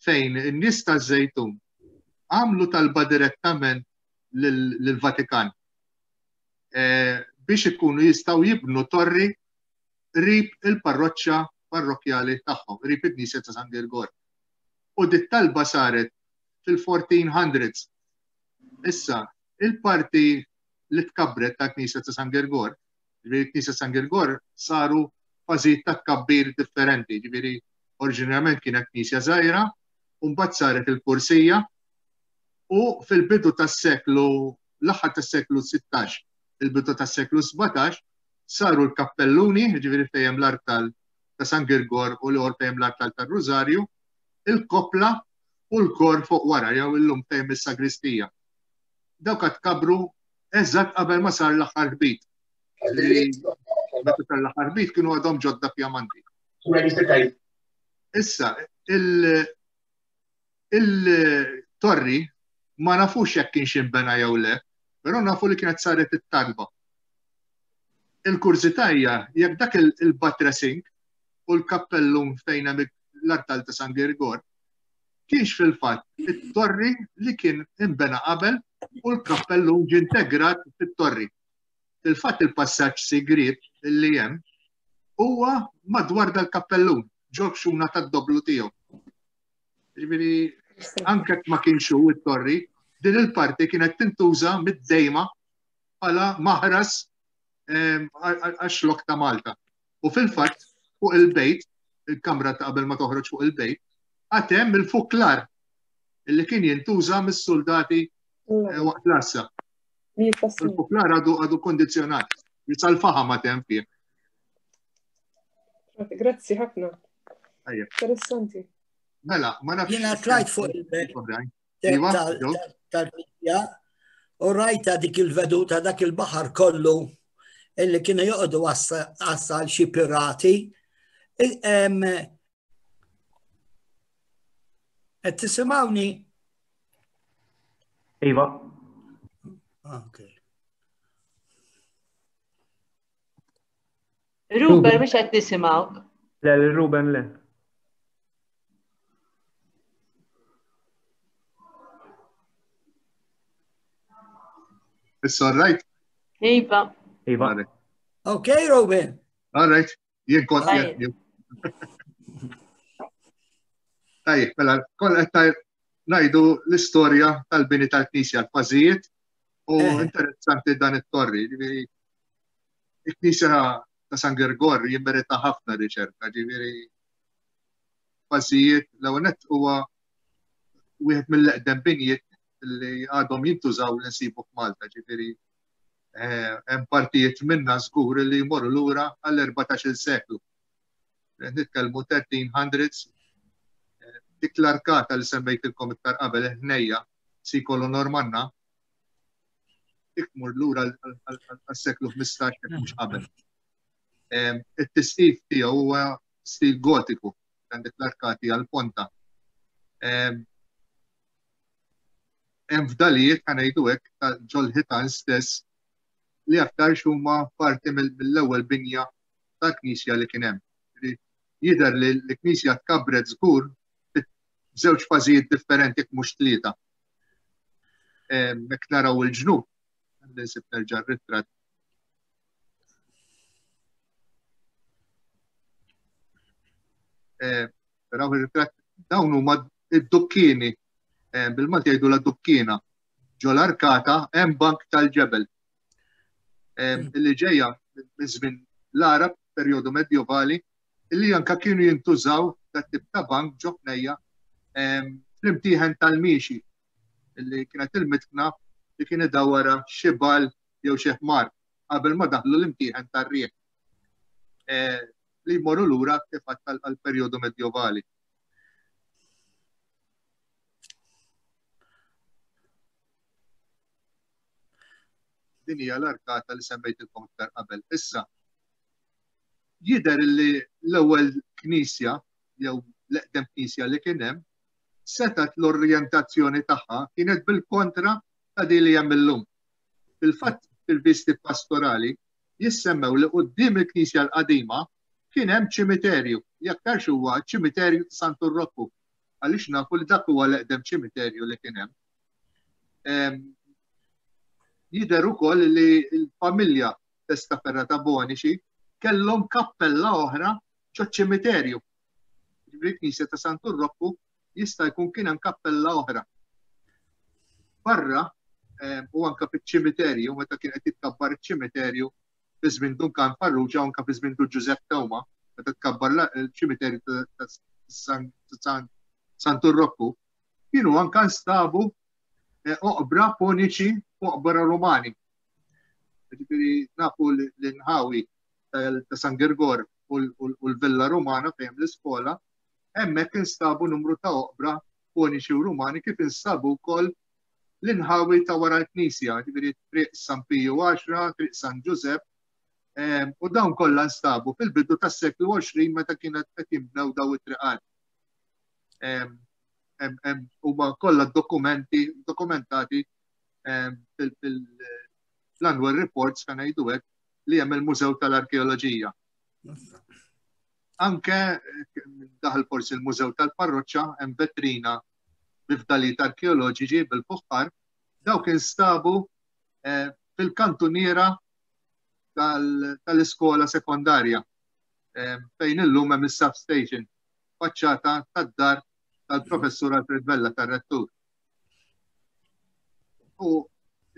Speaker 1: fejn in-nies taż-Żejtun għamlu talba direttament lill-Vatikan eh, biex ikunu jistgħu jibnu torri qrib il-parroċċa parrokkjali tagħhom, qrib il-Knisja ta' San Girgor. U dit-talba saret fil-1400s. Issa, il-parti li tkabbret ta' Knisja ta' San Girgor, ġifieri Knisja San Girgor saru fażijiet ta' tkabbir differenti, ġifieri oriġinarjament kienet knisja żgħira, u mbagħad saret il-kursija, u fil-bidu tas-seklu l-aħħar tas-seklu 16, il-bidu tas-seklu 17, saru l-kappelluni, jiġifieri fejn hemm l-artal ta' San Girgor u l-ieħor fejn hemm l-artal tar-Rużarju, il-koppla u l-kor fuq wara jew illum fejn hemm is-sagristija. Dawk għad kabru eżatt qabel ma sar l-aħħar ħbit. Meta sar l-aħħar ħbit kienu għadhom ġodda fjamanti. Issa, il-torri ma nafux jekk kienx inbena jew le, però nafu li kienet saret it-talba. Il-kurżità hija jekk dak il-buttressing u l-kappellum fejn hemm l-artal ta' San Girgor kienx fil-fatt it-torri li kien inbena qabel u l-kappellum ġie integrat fit-torri. Fil-fatt il-passaġġ sigriet li hemm huwa madwar dal-kappellun, ġo xuna tad-doblu tiegħu. Ġifieri anke ma kienx hu it-torri, din il-parti kienet tintuża mid-dejma bħala maħras ehm, għax-xlok ta' Malta. U fil-fatt fuq il-bejt, il-kamra ta' qabel ma toħroġ fuq il-bejt, għad hemm il-fuklar illi kien jintuża mis-soldati eh, waqt l-għassa. Il-fuklar għadu għadu kondizjonat, sal-faħam ma tem fih.
Speaker 9: Grazzi ħafna. Interessanti.
Speaker 1: Mela, ma nafx.
Speaker 5: Jiena tlajt fuq il-bejt. Iva, tal-Knisja u rajta dik il-veduta dak il-baħar kollu illi kienu joqogħdu għassa xi pirati. Qed tisimgħuni?
Speaker 2: Iva.
Speaker 5: Okay.
Speaker 10: Ruben, mhux qed nisimgħuk.
Speaker 2: Le, Ruben le.
Speaker 1: It's all right?
Speaker 10: Iva.
Speaker 2: Iva.
Speaker 5: Okay, Ruben.
Speaker 1: All right. Jien kont Tajjeb, mela, kol qed ngħidu l-istorja tal-bini tal-Knisja, l-fażijiet u eh. interessanti dan it-torri. Il-Knisja ta' San Gergor jimmerita ħafna riċerka, ġifieri fażijiet l-ewwel nett huwa wieħed mill-eqdem binjiet li għadhom jintużaw li nsibu f'Malta, ġifieri eh, hemm partijiet minna żgur li jmorru lura għall-14-il seklu. Nitkellmu 1300s, eh, dik l-arkata li semmejtilkom iktar qabel ħnejja sikolu Normanna, dik tmur lura għas-seklu 15 jekk mhux qabel. It-tisqif tiegħu huwa stil gotiku, għandek l-arkati għal-ponta. Hemm fdalijiet ħa ngħidu hekk ta' ġol-ħitan stess li aktarx huma parti mill-ewwel binja ta' knisja li kien hemm. Jidher li l-knisja tkabbret żgur f'żewġ fażijiet differenti jekk mhux tlieta. Mek naraw il-ġnub, nsib nerġa' r-ritratt. Naraw ir-ritratt dawn huma id-dukkini, bil-Malti jgħidu la dukkina, ġol arkata hemm bank tal-ġebel. Illi ġejja minn żmien l-Arab, perjodu medjovali, illi anka kienu jintużaw dat tip ta' bank ġo ħnejja fl-imtieħen tal-miexi illi kienet il-mitħna li kien idawwara xi bal jew xi ħmar qabel ma daħlu l-imtieħen tar-riħ eh, li jmorru lura kif għal-perjodu medjovali. Din hija l-arkata li semmejtilkom iktar qabel. Issa, Jidher li l-ewwel knisja jew l-eqdem knisja li kien hemm setgħet l-orjentazzjoni tagħha kienet bil-kontra ta' din li hemm illum. Fil-fatt fil-visti pastorali jissemmew li quddiem il-knisja l-qadima kien hemm ċimiterju, li aktarx huwa ċ-ċimiterju ta' Santu Rokku, għaliex nafu li dak huwa l-eqdem ċimiterju li kien hemm. Jidher ukoll li l-familja Testaferra ta' Bonici, kellhom kappella oħra ġoċ-ċimiterju. Ġifieri knisja ta' Santu Rokku jista' jkun kien hemm kappella oħra. Barra eh, u anka fiċ-ċimiterju, meta kien qed jitkabbar iċ-ċimiterju fi żmien Dun Karm Farrugia u anka fi żmien Dun Ġużepp Tewma, meta tkabbar il-ċimiterju ta' Santu Rokku, kienu anka nstabu eh, oqbra poniċi u oqbra Rumani. Ġifieri nafu l-inħawi ta' San Girgor u l-Villa Rumana fejn l-iskola, hemmhekk instabu numru ta' oqbra poniċi u Rumani kif instabu wkoll l-inħawi ta' wara l-Knisja, ġifieri Triq San Piju 10, Triq San Ġużepp, ehm, u dawn kollha nstabu fil-bidu tas-seklu 20 meta kienet qed jinbnew daw it-triqat. Ehm, huma kollha dokumenti dokumentati fil-annual reports kan ngħidu hekk li hemm il-Mużew tal-Arkeoloġija. Anke daħal forsi l-Mużew tal-Parroċċa hemm vetrina bi fdalijiet arkeoloġiċi bil-fuħħar dawk instabu eh, fil-kantuniera tal-iskola sekondarja eh, fejn illum hemm is-substation faċċata tad-dar tal-professur Alfred Vella tar-rettur. U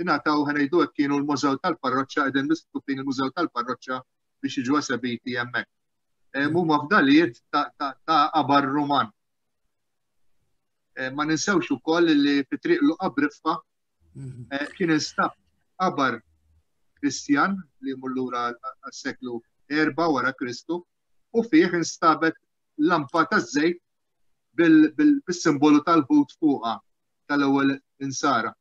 Speaker 1: ingħataw ħanejdu hekk kienu l-mużew tal-parroċċa qegħdin mistufin il-mużew tal-parroċċa biex jiġu esebiti hemmhekk. Eh, huma fdalijiet ta' qabar Ruman. Eh, ma ninsewx ukoll li fi triq Luqa Briffa mhm. eh, kien instab qabar Kristjan li jmur lura għas-seklu 4 wara Kristu u fih instabet lampa taż-żejt bil-simbolu tal-ħut fuqha tal-ewwel insara.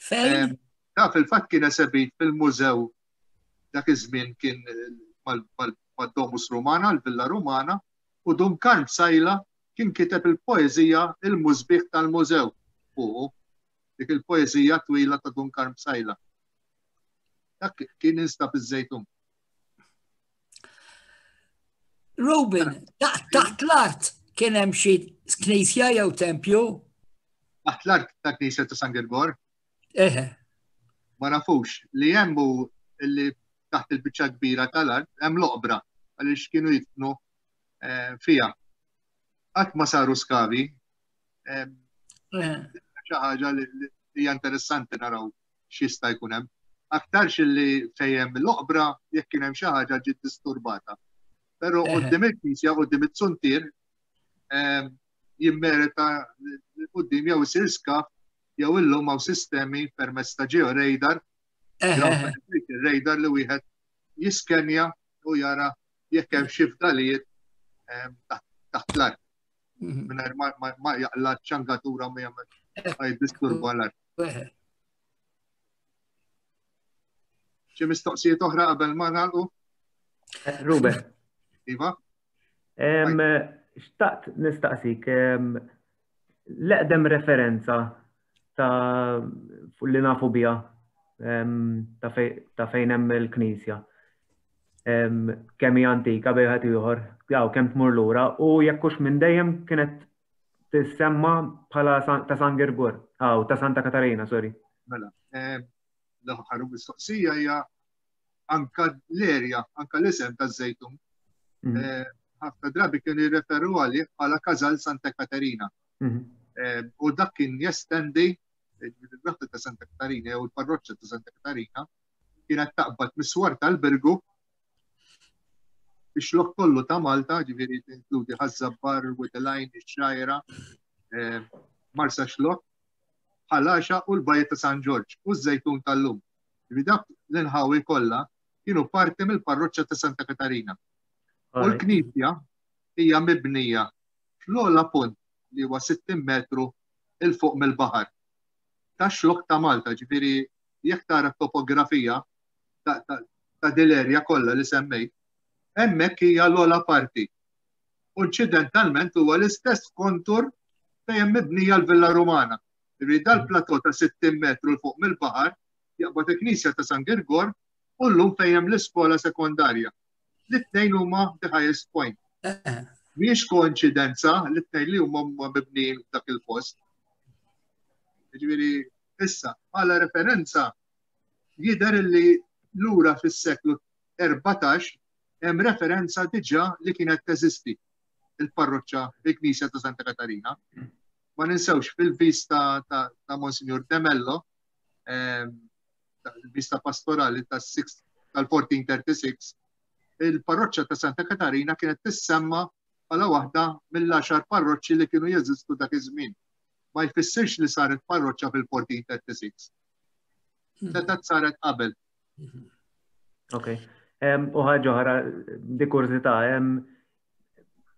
Speaker 5: Fejn?
Speaker 1: Da fil-fatt kien esebit fil-mużew dak iż-żmien kien mad-Domus Rumana, l-Villa Rumana, u Dun Karm Sajla kien kiteb il-poeżija Il-Musbieħ tal-Mużew fuqu, dik il-poeżija twila ta' Dun Karm Sajla. Dak kien instab iż-Żejtun.
Speaker 5: Ruben, taħt l-art kien hemm xi knisja jew tempju?
Speaker 1: Taħt l-art ta' knisja ta' San Girgor?
Speaker 5: Eħe.
Speaker 1: Ma nafux li hemm hu li taħt il-biċċa kbira tal-art hemm l-oqbra għaliex kienu jitnu eh, fija. Qatt ma saru skavi. Eh, xi ħaġa li hija interessanti naraw x'jista' jkun hemm. Aktarx li fejn hemm l-oqbra jekk kien hemm xi ħaġa ġiet disturbata. Però quddiem il-knisja, quddiem it-suntier, ehm, jimmerita quddiem jew isir skaf jew illum hawn sistemi permezz ta' georadar, radar li wieħed jiskenja u jara jekk hemm xi fdalijiet ehm, taħt l-art. Mhm. Mingħajr ma jaqla ċangatura ma jagħmel ma jiddisturba l-art. Xi mistoqsijiet oħra qabel ma nagħlqu?
Speaker 2: Eh, Ruben.
Speaker 1: Iva?
Speaker 2: Xtaqt nistaqsik, l-eqdem referenza ta' li nafu bija ta' fejn hemm il-knisja. Kemm hija antika bejn wieħed ieħor, jew kemm tmur lura u jekk hux minn dejjem kienet tissemma bħala ta' San Girgor, aw ta' Santa Katarina, sorry.
Speaker 1: Mela, eh, l-aħħar mistoqsija hija anka l-erja, anka l-isem ta' żejtun. Mhm. Eh, ħafna drabi kienu jirreferu għalih bħala Każal Santa Katerina. Mhm. Eh, u dak kien jestendi il-raħta ta' Santa Katarina jew il-parroċċa ta' Santa Katarina kienet taqbad mis-swar tal-Birgu ix-xlok kollu ta' Malta, ġifieri tinkludi Ħaż-Żabbar, Wied ix-Xgħajra, eh, Marsa Xlok, Ħal u l-Bajja ta' San Ġorġ u ż-Żejtun tal-lum. Ġifieri dak l-inħawi kollha kienu parti mill-parroċċa ta' Santa Katarina. U l-knisja hija mibnija fl-ogħla punt li huwa 60 metru 'il fuq mill-baħar. Tax-xlokk ta' Malta, ġifieri jekk tara t-topografija ta' dil-erja kollha li semmejt, hemmhekk hija l-ogħla parti. U inċidentalment huwa l-istess kontur fejn hemm mibnija l-Villa Rumana. Ġifieri dal-plateau ta' 60 metru 'l fuq mill-baħar jaqbad il-Knisja ta' San Girgor u llum fejn hemm l-iskola sekondarja. L-tnejn huma the highest point. Mhijiex koinċidenza li t-tnejn li huma huma mibnijin f'dak il-post. Ġifieri issa bħala referenza jidher li lura fis-seklu 14 hemm referenza diġà li kienet teżisti il-parroċċa il-Knisja ta' Santa Katarina. Ma ninsewx fil-vista ta', ta, Monsignor De Mello, ehm, il-vista pastorali tal-1436, il-parroċċa ta' Santa Katarina kienet tissemma bħala waħda mill-għaxar parroċċi li kienu jeżistu dak iż-żmien. Ma jfissirx li saret parroċċa fil-1436. Hmm. Seta saret qabel.
Speaker 2: Ok. U ħaġa oħra, di kurżità,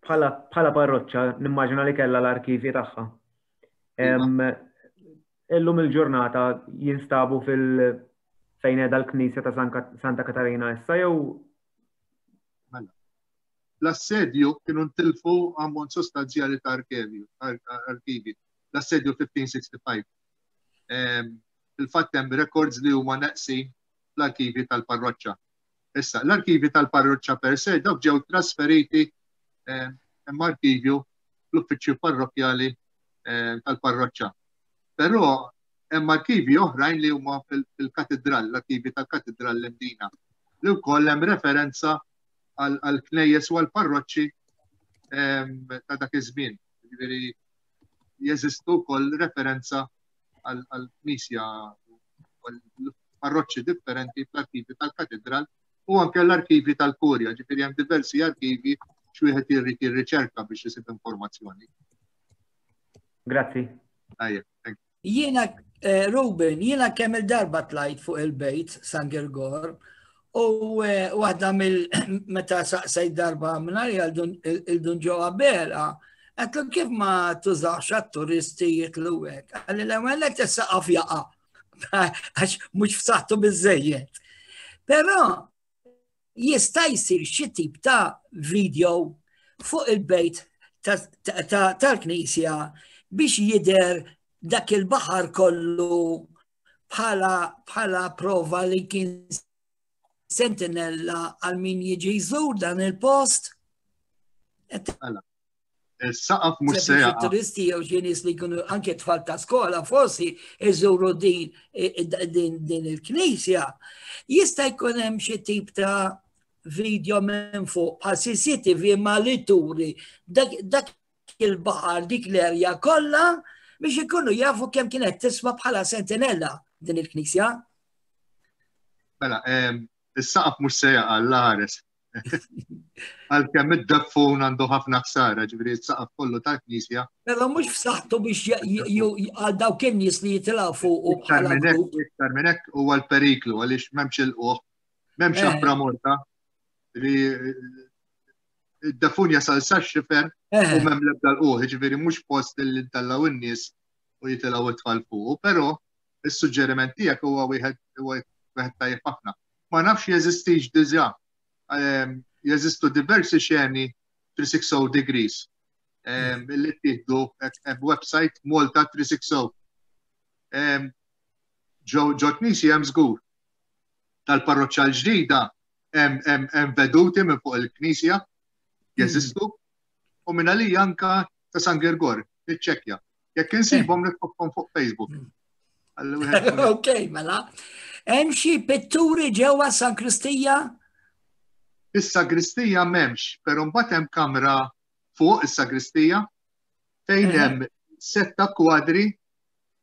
Speaker 2: bħala parroċċa nimmaġina li kellha l-arkivi tagħha. Illum il-ġurnata jinstabu fil- fejn qiegħda l-Knisja ta' Santa Katarina issa jew
Speaker 1: Mela. L-assedju kienu ntilfu ammont sostanzjali ta' arkivi. L-assedju 1565. Fil-fatt hemm records li huma neqsin fl-arkivi tal-parroċċa. Issa, l-arkivi tal-parroċċa per se dawk ġew trasferiti hemm arkivju fl-uffiċċju parrokkjali tal-parroċċa. Però hemm arkivi oħrajn li huma fil-katedral, l-arkivi tal-katedral l-Imdina. li wkoll hemm referenza għal knejjes u għal parroċċi ehm, ta' dak iż-żmien. Ġifieri jeżistu wkoll referenza għal knisja parroċċi differenti fl-arkivi tal-katedral u anke l-arkivi tal-kurja, ġifieri hemm diversi arkivi x'wieħed irrid jirriċerka biex isib informazzjoni.
Speaker 2: Grazzi.
Speaker 1: Tajjeb, thank you.
Speaker 5: Jiena, eh, Ruben, jiena kemm il-darba tlajt fuq il-bejt San Girgor u eh, waħda mill meta saqsejt darba minn il-dun ġo Abela, għatlu kif ma tużax għat-turisti jitlu hekk. Għalli l-ewwel qed is-saqaf jaqa' għax mhux f'saħħtu biżejjed. Però jista' jsir xi tip ta' video fuq il-bejt tal-knisja biex jidher dak il-baħar kollu bħala bħala prova li kien sentinella għal min jiġi jżur dan il-post.
Speaker 1: Is-saqaf mhux se jaqa'.
Speaker 5: Turisti jew xi nies li jkunu anke tfal ta' skola forsi iżuru din din din il-knisja. Jista' jkun hemm xi tip ta' video minn fuq bħal CCTV ma li turi dak il-baħar dik l-erja kollha biex ikunu jafu kemm kienet tiswa bħala sentinella din il-knisja.
Speaker 1: Mela, is-saqaf mhux se jaqa' l-ħares. Għalkemm id-daffun għandu ħafna ħsara, ġifieri s-saqaf kollu tal-knisja.
Speaker 5: Però mhux f'saħħtu biex għal dawk in-nies li jitilgħu fuq u bħala grupp.
Speaker 1: Iktar minn hekk huwa l-periklu għaliex m'hemmx il-qoħ, m'hemmx eh. aħbra morta li id-dafun jasal sa xifer u eh. m'hemm l-ebda l-qoħ, ġifieri mhux post li ntallaw in-nies u jitilgħu it-tfal fuq, però is-suġġeriment tiegħek huwa wieħed wieħed tajjeb ħafna. Ma nafx jeżistix diġà. Ehm, jeżistu diversi xeni 360 degrees ehm, li ttieħdu website Malta 360. Ehm, ġo knisja hemm żgur. Tal-parroċċa l-ġdida hemm veduti minn fuq il-knisja jeżistu u minn għalija anka ta' San Girgor, niċċekkja. Jekk insibhom nitfogħhom fuq Facebook. Hmm.
Speaker 5: Ok, mela. Hemm xi pitturi ġewwa San Kristija?
Speaker 1: Is-sagristija m'hemmx, però mbagħad hemm kamra fuq is-sagristija fejn eh. hemm setta kwadri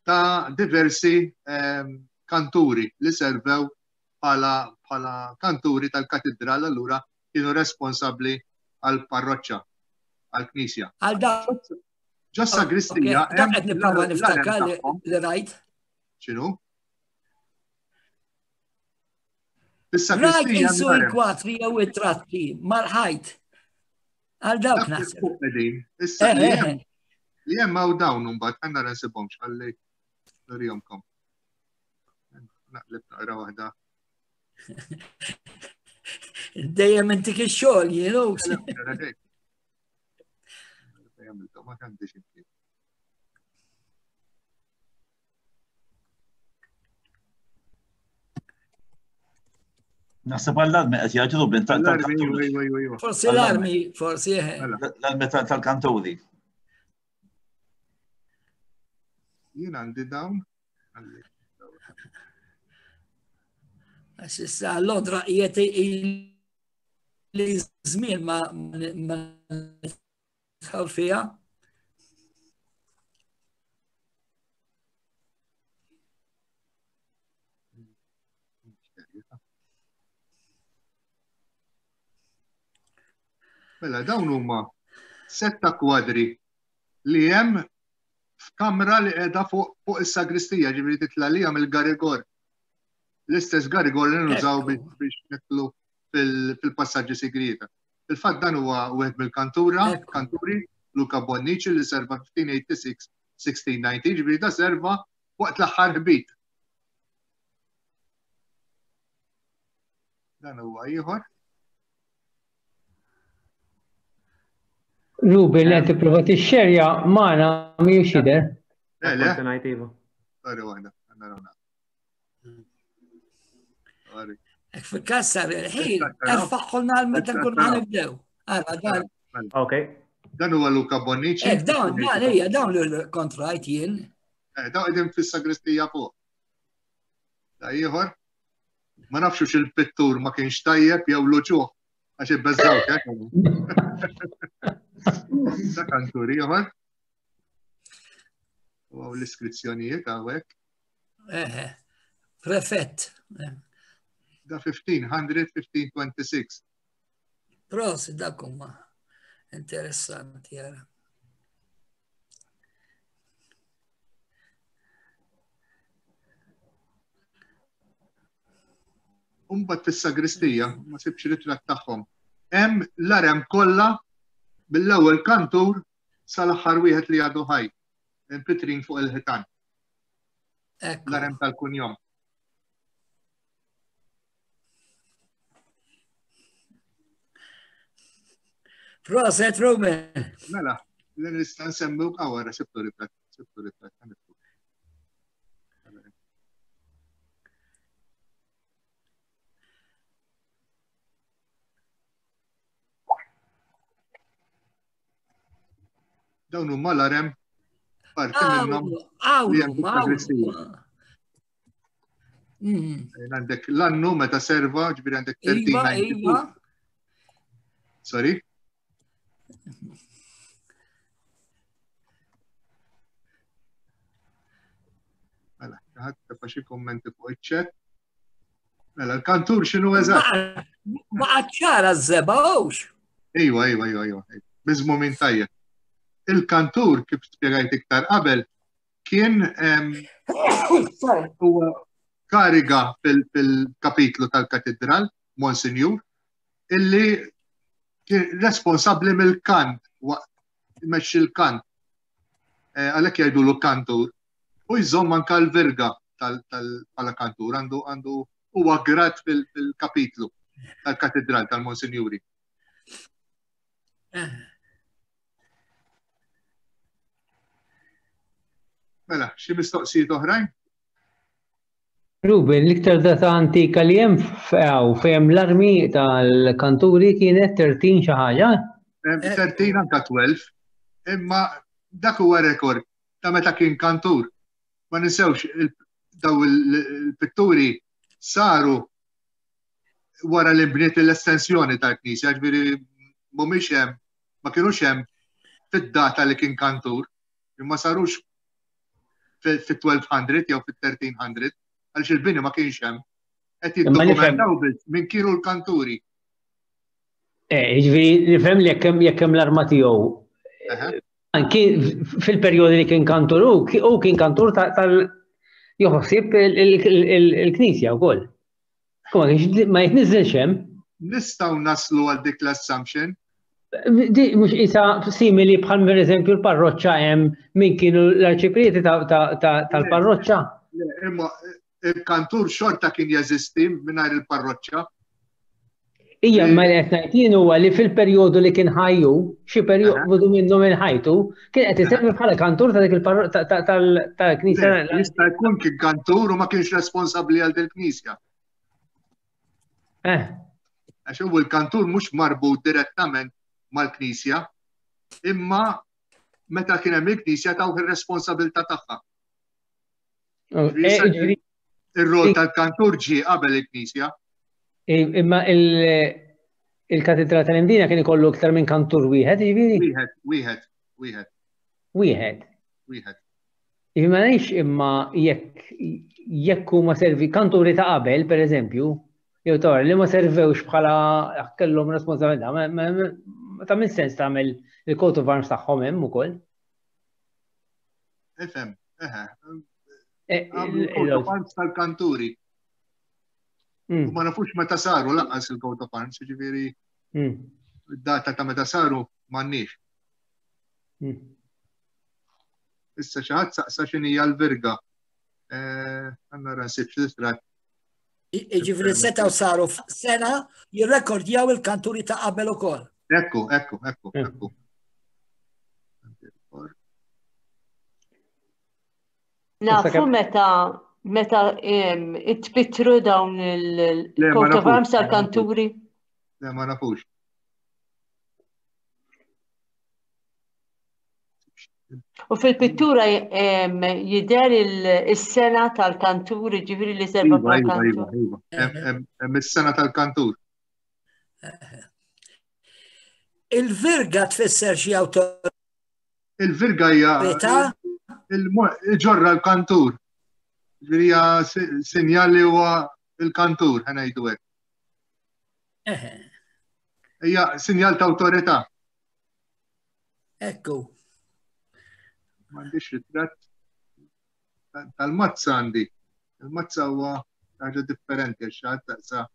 Speaker 1: ta' diversi ehm, kanturi li servew bħala bħala kanturi tal-katedral allura kienu responsabbli għal parroċċa għal-knisja.
Speaker 5: Għal da.
Speaker 1: Ġo sagristija.
Speaker 5: Dak qed nipprova niftakar li rajt.
Speaker 1: X'inhu?
Speaker 5: Rajt insu l-kwatri jew it-tratti mal-ħajt. Għal dawk naħseb.
Speaker 1: Issa eh, eh, eh. li hemm hawn dawn imbagħad għandna nsibhomx ħalli nurihomkom. Naqleb naqra waħda.
Speaker 5: Dejjem intik ix-xogħol jienu.
Speaker 3: Naħseb għall-armi qed jgħidu bin
Speaker 1: tal-kanturi.
Speaker 5: Forsi l-armi, forsi. Eh.
Speaker 3: L-armi tal-kanturi.
Speaker 1: Jien għandi dawn.
Speaker 5: Issa Londra qiegħed li żmien ma nidħol fiha.
Speaker 1: Mela dawn huma setta kwadri li hemm f'kamra li qiegħda fuq fuq is-sagristija, ġifieri titla' li mill-garigor. L-istess garigor li nużaw biex nitlu fil-passaġġi sigrieta. Il-fatt dan huwa wieħed mill-kantura, kanturi, Luca Bonnici li serva 1586 1690, ġifieri da serva waqt l-aħħar ħbit. Dan huwa ieħor.
Speaker 7: Ruben li qed tipprova tixxerja magħna mhijiex jidher.
Speaker 1: Le, le. Sorry, waħda, narawna.
Speaker 5: Ek fil-kassar il-ħin, erfaħħulna għal meta nkunu ħanibdew. Għara, dan.
Speaker 2: Ok.
Speaker 1: Dan huwa Luca Bonnici.
Speaker 5: Ek, dawn, dan, ejja, dawn l-kontrajt jien.
Speaker 1: Eh, dawn qegħdin fis-sagristija fuq. Da ieħor. Ma nafx il-pittur ma kienx tajjeb jew l-uċuħ għax ibbeżżawk hekk. Ta' kantur ieħor. U hawn l-iskrizzjonijiet hawnhekk.
Speaker 5: Eħe, prefett.
Speaker 1: Da 1500, 1526.
Speaker 5: Prosi, dak huma interessanti jara.
Speaker 1: Umbat fis-sagristija, ma sibx ritratt tagħhom. Hemm l-arem kollha mill-ewwel kantur sal-aħħar wieħed li għadu ħaj, impitrin fuq il-ħitan. L-arem tal-kunjom.
Speaker 5: Proset, Ruben.
Speaker 1: Mela, li nista' nsemmi għawara sibtu ritratt, sibtu ritratt. Dawn huma l-arem parti minnhom li hemm fis-sagristija. Mm. Għandek l-annu meta serva, ġifieri għandek 1392. Iva, iva. Sorry? Mela, ħadd tefa' xi kummenti fuq iċ-chat. Mela, l-kantur x'inhu eżatt?
Speaker 5: Ma ċara z-zeba hux.
Speaker 1: Ejwa, ejwa, ejwa, ejwa. Miżmu minn tajjeb. Il-kantur, kif spjegajt iktar qabel, kien huwa kariga fil-kapitlu tal-katedral, Monsignor, illi kien responsabbli mill-kant, imexxi l-kant. Eh, għalhekk jgħidulu kantur. U jżomm anka l-virga tal-bħala kantur, għandu għandu huwa grad fil-kapitlu tal-katedral tal-Monsinjuri. Eh. Mela, xi mistoqsijiet oħrajn?
Speaker 7: Ruben, l-iktar data antika li hemm f'għaw fejn l-armi tal-kanturi kienet 13 xi ħaġa?
Speaker 1: 13 anka 12, imma dak huwa rekord ta' meta kien kantur. Ma ninsewx daw il-pitturi saru wara li bniet l-estensjoni tal-knisja, ġifieri mhumiex hemm, ma kinux hemm fid-data li kien kantur, imma sarux fit-1200 jew fit-1300, għaliex il-bini ma kienx hemm. Qed jiddokumentaw biss minn kienu l-kanturi.
Speaker 7: Eh, ġifieri nifhem li jekk hemm l-arma tiegħu. Anki fil-perjodi li kien kantur u kien kantur tal joħsib il-knisja wkoll. Ma jitniżilx hemm.
Speaker 1: Nistgħu naslu għal dik l-assumption.
Speaker 7: Di mhux isa simili bħal per eżempju l-parroċċa hemm min kienu l-arċiprieti tal-parroċċa.
Speaker 1: Imma il-kantur xorta kien jeżisti mingħajr il-parroċċa.
Speaker 7: Ija, ma li qed ngħid jien huwa li fil-perjodu li kien ħajju, xi perjodu minnu minn ħajtu, kien qed isemmi bħala kantur ta' dik tal-knisja.
Speaker 1: Jista' jkun kien kantur u ma kienx responsabbli għal dil-knisja.
Speaker 7: Eh.
Speaker 1: Għax u l-kantur mhux marbut direttament mal-knisja, imma meta kien hemm il-knisja tawh ir-responsabilità tagħha.
Speaker 7: Oh, eh,
Speaker 1: Ir-rol tal-kantur ġie qabel il-knisja.
Speaker 7: Imma il-katedra tal-Imdina kien ikollu iktar minn kantur wieħed,
Speaker 1: jiġifieri? Wieħed, wieħed, wieħed.
Speaker 7: Wieħed.
Speaker 1: Wieħed.
Speaker 7: Jiġifieri ma ngħidx imma jekk jekk huma servi kanturi ta' qabel, per eżempju, jew ta' li ma servewx bħala kellhom responsabilità, ma ta' minn sens tagħmel il-coat of arms tagħhom hemm ukoll.
Speaker 1: Ifhem, eħe. Eh, il-coat of arms tal-kanturi. Mm. U ma nafux meta saru lanqas il-coat of arms, ġifieri mm. data ta' meta saru m'għandniex. Mm. Issa xi ħadd saqsa x'inhija l-virga. Eh, għandna ra nsib x'ritrat.
Speaker 5: Ġifieri setgħu saru sena jirrekordjaw il-kanturi ta' qabel ukoll.
Speaker 1: Ekku, ekku, ekku, ekku.
Speaker 10: Nafu meta meta itpittru dawn il-coat of arms tal-kanturi?
Speaker 1: Le, ma nafux.
Speaker 10: U fil-pittura jidher is-sena tal-kantur, ġifieri li serva
Speaker 1: iva, iva, iva, iva. Hemm is-sena tal-kantur.
Speaker 5: Il-virga tfisser xi awtorità?
Speaker 1: Il-virga hija il-ġorra l-kantur. Ġifieri hija sinjal li huwa il-kantur, ħa ngħidu hekk. Hija sinjal ta' awtorità.
Speaker 5: Ekku.
Speaker 1: M'għandix ritratt tal-mazza għandi. Il-mazza huwa ħaġa differenti għax xi ħadd taqsa.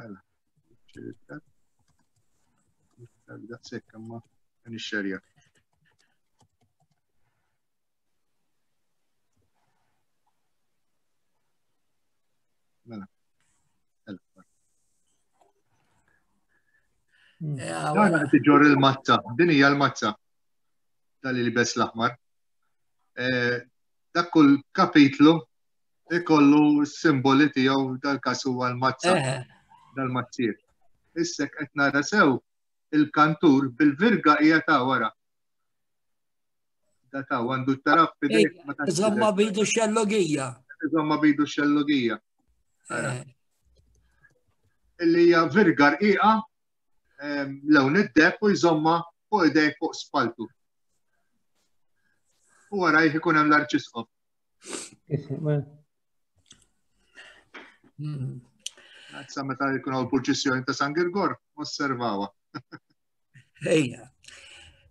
Speaker 1: Mela. Daqshekk imma nixxerja. Mela. Dan qed iġorr il-mazza, din hija l-mazza tal li bes l-aħmar. Eh, dak kull kapitlu ikollu s-simboli tiegħu dal-każ huwa l-mazza dal-mazzier. Issa qed nara sew il-kantur bil-virga hija ta' wara. Da ta' għandu t-taraf
Speaker 5: fidejk. Iżomma bidu xellogija.
Speaker 1: Iżomma bidu xellogija. Illi hija virga rqiqa lewn id-deb u jżomma fuq idejk fuq spaltu. U wara jkun hemm l-arċisqof. Sa meta jkun hawn purċissjoni ta' San Girgor, osservawha.
Speaker 5: Ejja.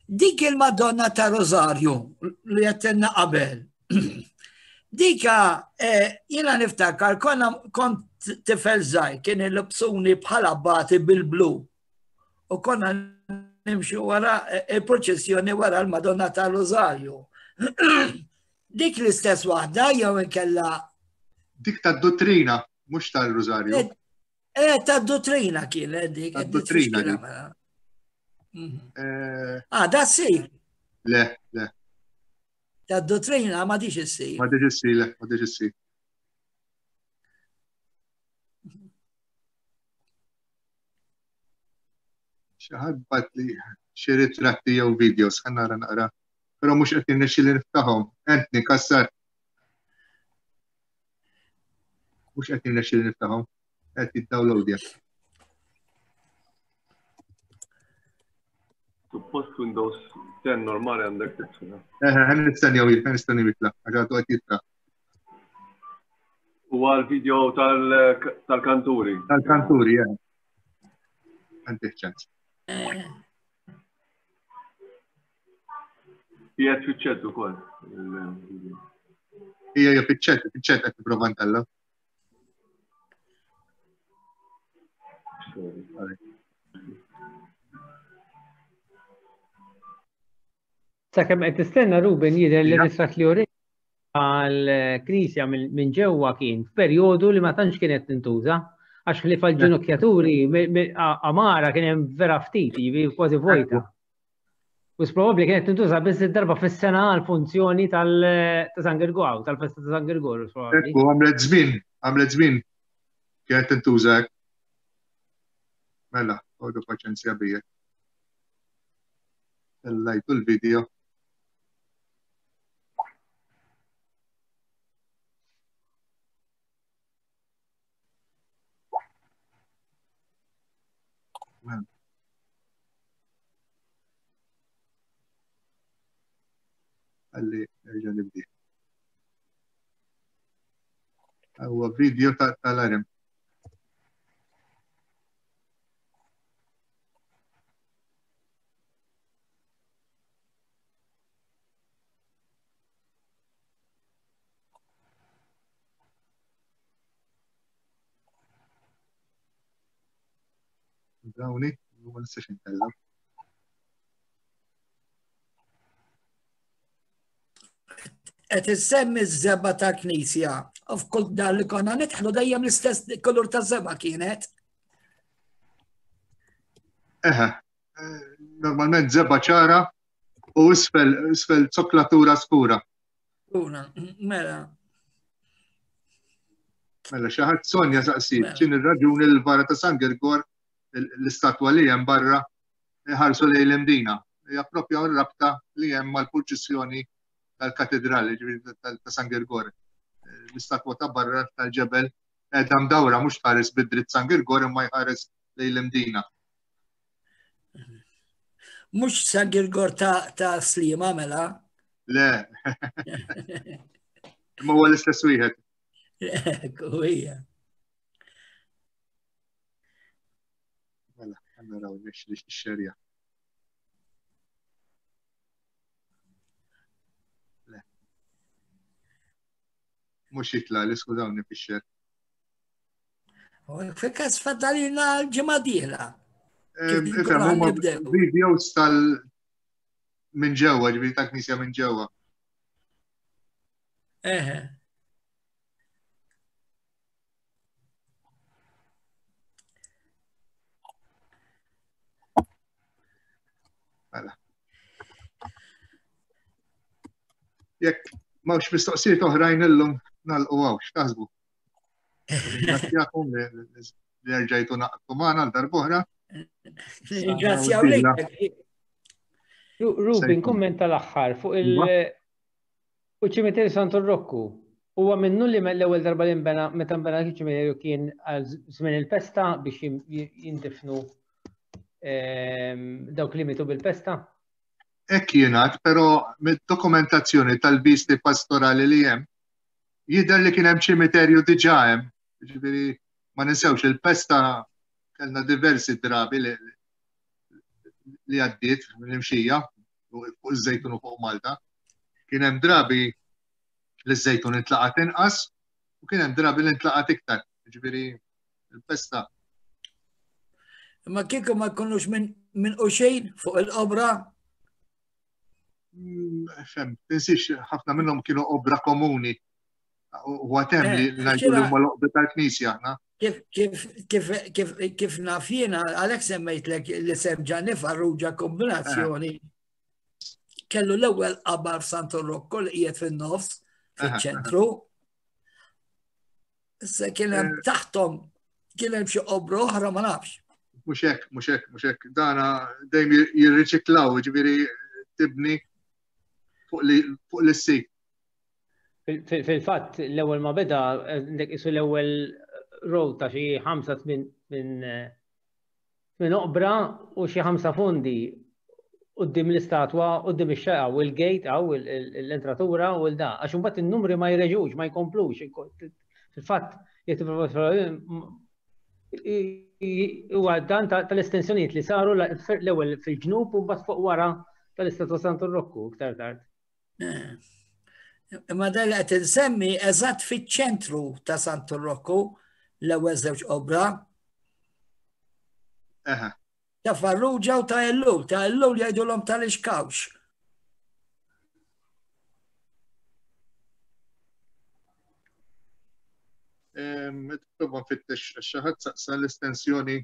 Speaker 5: Dik il-Madonna ta' Rosario li għattenna qabel. Dika eh, jiena niftakar konna kont tifel żgħir kien il-lobsuni bħala bati bil-blu. U konna nimxu wara eh, il-proċessjoni wara l-Madonna ta' Rosario. Dik l-istess waħda jew inkella.
Speaker 1: Dik tad-dottrina, mhux tal-Rużarju.
Speaker 5: Eh, eh tad-dottrina kienet dik.
Speaker 1: Tad-dottrina dik. Mela.
Speaker 5: Mhm. Eh, ah, da si.
Speaker 1: Le, le.
Speaker 5: Tad-dottrina ma diċ issir.
Speaker 1: Ma diċ issir, le, ma diċ issir. Xi ħadd bagħatli xi ritratti jew videos ħa nara naqra. Però mhux qed jirnexxi li niftaħhom. Anthony Kassar. Mhux qed jirnexxi li niftaħhom. Qed jiddownloadja.
Speaker 11: Suppost Windows 10 normali għandek titfila.
Speaker 1: Eh, ħan nistennew, ħan nistennew jitla, għax għadu qed jitla.
Speaker 11: U għal video tal-kanturi.
Speaker 1: Tal-kanturi, eh. Għandek ċans.
Speaker 11: Qiegħed fiċ-chat ukoll.
Speaker 1: Ija hija fiċ-chat, fiċ-chat qed tipprova ntella.
Speaker 7: Sakemm qed tistenna Ruben jidher li ritratt li uri għall-knisja minn ġewwa kien f'perjodu li ma tantx kienet tintuża għax ħlief għall-ġunukjaturi għamara kien hemm vera ftit, jiġifieri kważi vojta. U probabbli kienet tintuża biss darba fis-sena għal funzjoni tal San Girgor, tal-festa ta' San Girgor.
Speaker 1: Ekku, għamlet żmien, għamlet żmien kienet tintuża hekk. Mela, għodu paċenzja bija. Tellajtu l-video. Għalli, nerġa' nibdi. Huwa video tal-arem. Dawni, ma nistax intella.
Speaker 5: Qed issemmi ż-żeba ta' knisja. U f'kull dar li konna nidħlu dejjem l-istess kulur ta' żeba kienet.
Speaker 1: Eħe, eh, normalment żeba ċara. U isfel, isfel zoklatura skura.
Speaker 5: Skura, mela.
Speaker 1: Mela, xi ħadd Sonja saqsiet, mela. x'in ir-raġuni l-vara ta' San Girgor l-istatwa li hemm barra ħarsu lejn l-Imdina. Hija propja rabta li hemm mal-purċissjoni tal-katedrali ta' San Girgor. L-istatwa ta' barra tal-ġebel qiegħda mdawra mhux tħares bid-dritt San Girgor imma jħares lejn l-Imdina.
Speaker 5: Mhux San Girgor ta', ta Slima mela?
Speaker 1: Le. Imma huwa l-istess wieħed.
Speaker 5: Ekku hija.
Speaker 1: Mela, naraw nix li xerja. Le. Mhux jitla' li skużawni fix-xer.
Speaker 5: Fil-każ faddalina l-ġimgħa dieħla.
Speaker 1: Ifhem huma videos tal minn ġewwa, ġifieri ta' knisja minn ġewwa.
Speaker 5: Eħe.
Speaker 1: Mela. Jekk m'hawnx mistoqsijiet oħrajn illum nagħlqu hawn, x'taħsbu? Ringrazzjakom li rġajtu naqtu magħna għal darb'oħra.
Speaker 5: Ringrazzjaw lilek.
Speaker 7: Ruben, kumment tal-aħħar fuq il- iva. U ċimiterju Santu Rokku. Huwa minnu li l-ewwel darba li nbena meta nbena ċimiterju kien għal żmien il-pesta biex jindifnu ehm, dawk li mitu bil-pesta?
Speaker 1: Hekk jingħad, però mid-dokumentazzjoni tal-visti pastorali li hemm jidher li kien hemm ċimiterju diġà hemm. Ġifieri ma ninsewx il-pesta kellna diversi drabi li li għaddiet l-imxija fuq iż-żejtun u fuq Malta. Kien hemm drabi li ż-żejtun intlaqat inqas u kien hemm drabi li ntlaqat iktar. Ġifieri il-pesta.
Speaker 5: Imma kieku ma jkunux minn min uxejn fuq il-qobra?
Speaker 1: Mm, fem, tinsiex ħafna minnhom kienu obra komuni. U għatem li eh, ngħidu li huma l-oqba tal-Knisja aħna.
Speaker 5: Kif kif kif kif kif naf jiena għalhekk semmejtlek li sem Ġanni Farrugia kombinazzjoni. Eh. Kellu l-ewwel qabar Santo Rocco li qiegħed fin-nofs fiċ-ċentru. Issa kien hemm eh. taħtom kien hemm xi qobra oħra ma nafx.
Speaker 1: Mhux hekk, mhux hekk, mhux hekk. Dana dejjem jirriċiklaw, ġifieri tibni fuq l-issib.
Speaker 7: Fil-fatt, l-ewwel ma beda, għandek isu l-ewwel row ta' xi ħamsa minn minn oqbra u xi ħamsa fondi quddiem l-istatwa, quddiem ix-xeqa u l-gate għaw l-entratura u l-da. Għax imbagħad in-numri ma jreġux, ma jkomplux. Fil-fatt, jekk tipprova huwa dan tal-estensjonijiet li saru l-ewwel fil-ġnub u mbagħad fuq wara tal-istatwa Santu Rokku iktar tard.
Speaker 5: Eh. Imma dan li qed insemmi eżatt fiċ-ċentru ta' Santu Rokku l-ewwel żewġ obra. Ta' Farrugia u ta' Ellul, ta' Ellul jgħidulhom tal-Ixkawx.
Speaker 1: Prova nfittex xi ħadd saqsa l-estensjoni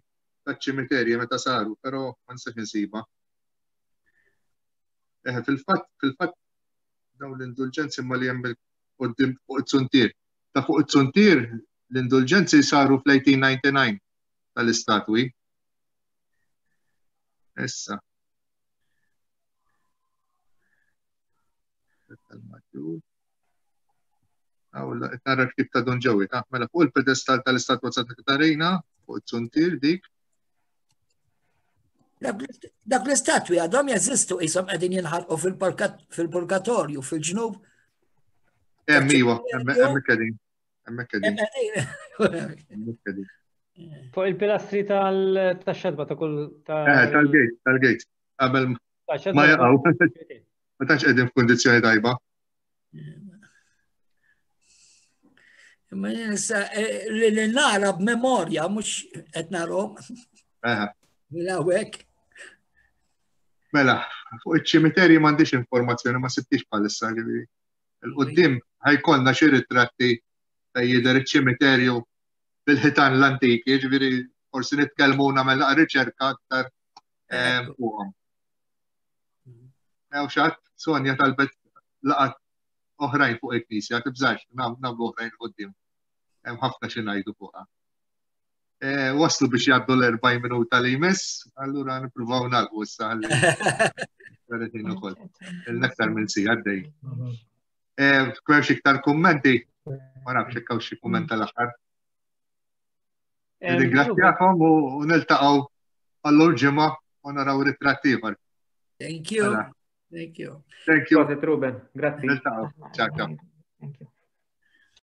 Speaker 1: taċ-ċimiterji meta saru, però ma nistax insiba. Eh, fil-fatt, fil-fatt dawn l-indulġenzi ma li hemm qudiem fuq it-suntier. Ta' fuq it-suntier l-indulġenzi saru fl-1899 tal-istatwi. Issa. Għawla, nara ktib ta' Don Ġewi, ta' mela fuq il-pedestal tal-istatwa Santa Katarina, fuq it-suntier dik.
Speaker 5: Dak l-istatwi għadhom jeżistu qishom qegħdin jinħarqu fil-purgatorju fil-ġnub.
Speaker 1: Hemm iwa, hemm qegħdin. Hemmhekk qegħdin.
Speaker 7: Hemmhekk qegħdin. Fuq il-pilastri tal-xadba ta' kull.
Speaker 1: Eh, tal-gate, tal-gate. Qabel ma jaqgħu. Ma tantx qegħdin f'kundizzjoni tajba.
Speaker 5: Imma issa eh, li li nara b'memorja mhux qed narhom. Mela hawnhekk.
Speaker 1: Mela, fuq iċ-ċimiterji m'għandix informazzjoni ma sibtix bħalissa ġifieri. Il-qudiem ħajkollna xi ritratti fejn jidher iċ-ċimiterju bil-ħitan l-antiki, ġifieri forsi nitkellmu nagħmel riċerka aktar eh, fuqhom. Hawn xi ħadd Sonja talbet laqat oħrajn fuq il-Knisja, tibżax, nagħmlu oħrajn quddiem. Hemm ħafna xi ngħidu fuqha. Eh, waslu biex jgħaddu l-40 minuta li jmiss, allura nippruvaw nagħlqu issa ħalli ukoll. Il-aktar minn si għaddej. Eh, Kwerx iktar kummenti, ma nafx jekk hawn xi kumment tal-aħħar. Ringrazzjakom u niltaqgħu għallur ġimgħa u naraw ritratt ieħor.
Speaker 5: Thank you. Mela. Thank you.
Speaker 1: Thank you.
Speaker 2: Proset Ruben, grazzi.
Speaker 1: Niltaqgħu. Ciao, ciao.
Speaker 12: Thank you.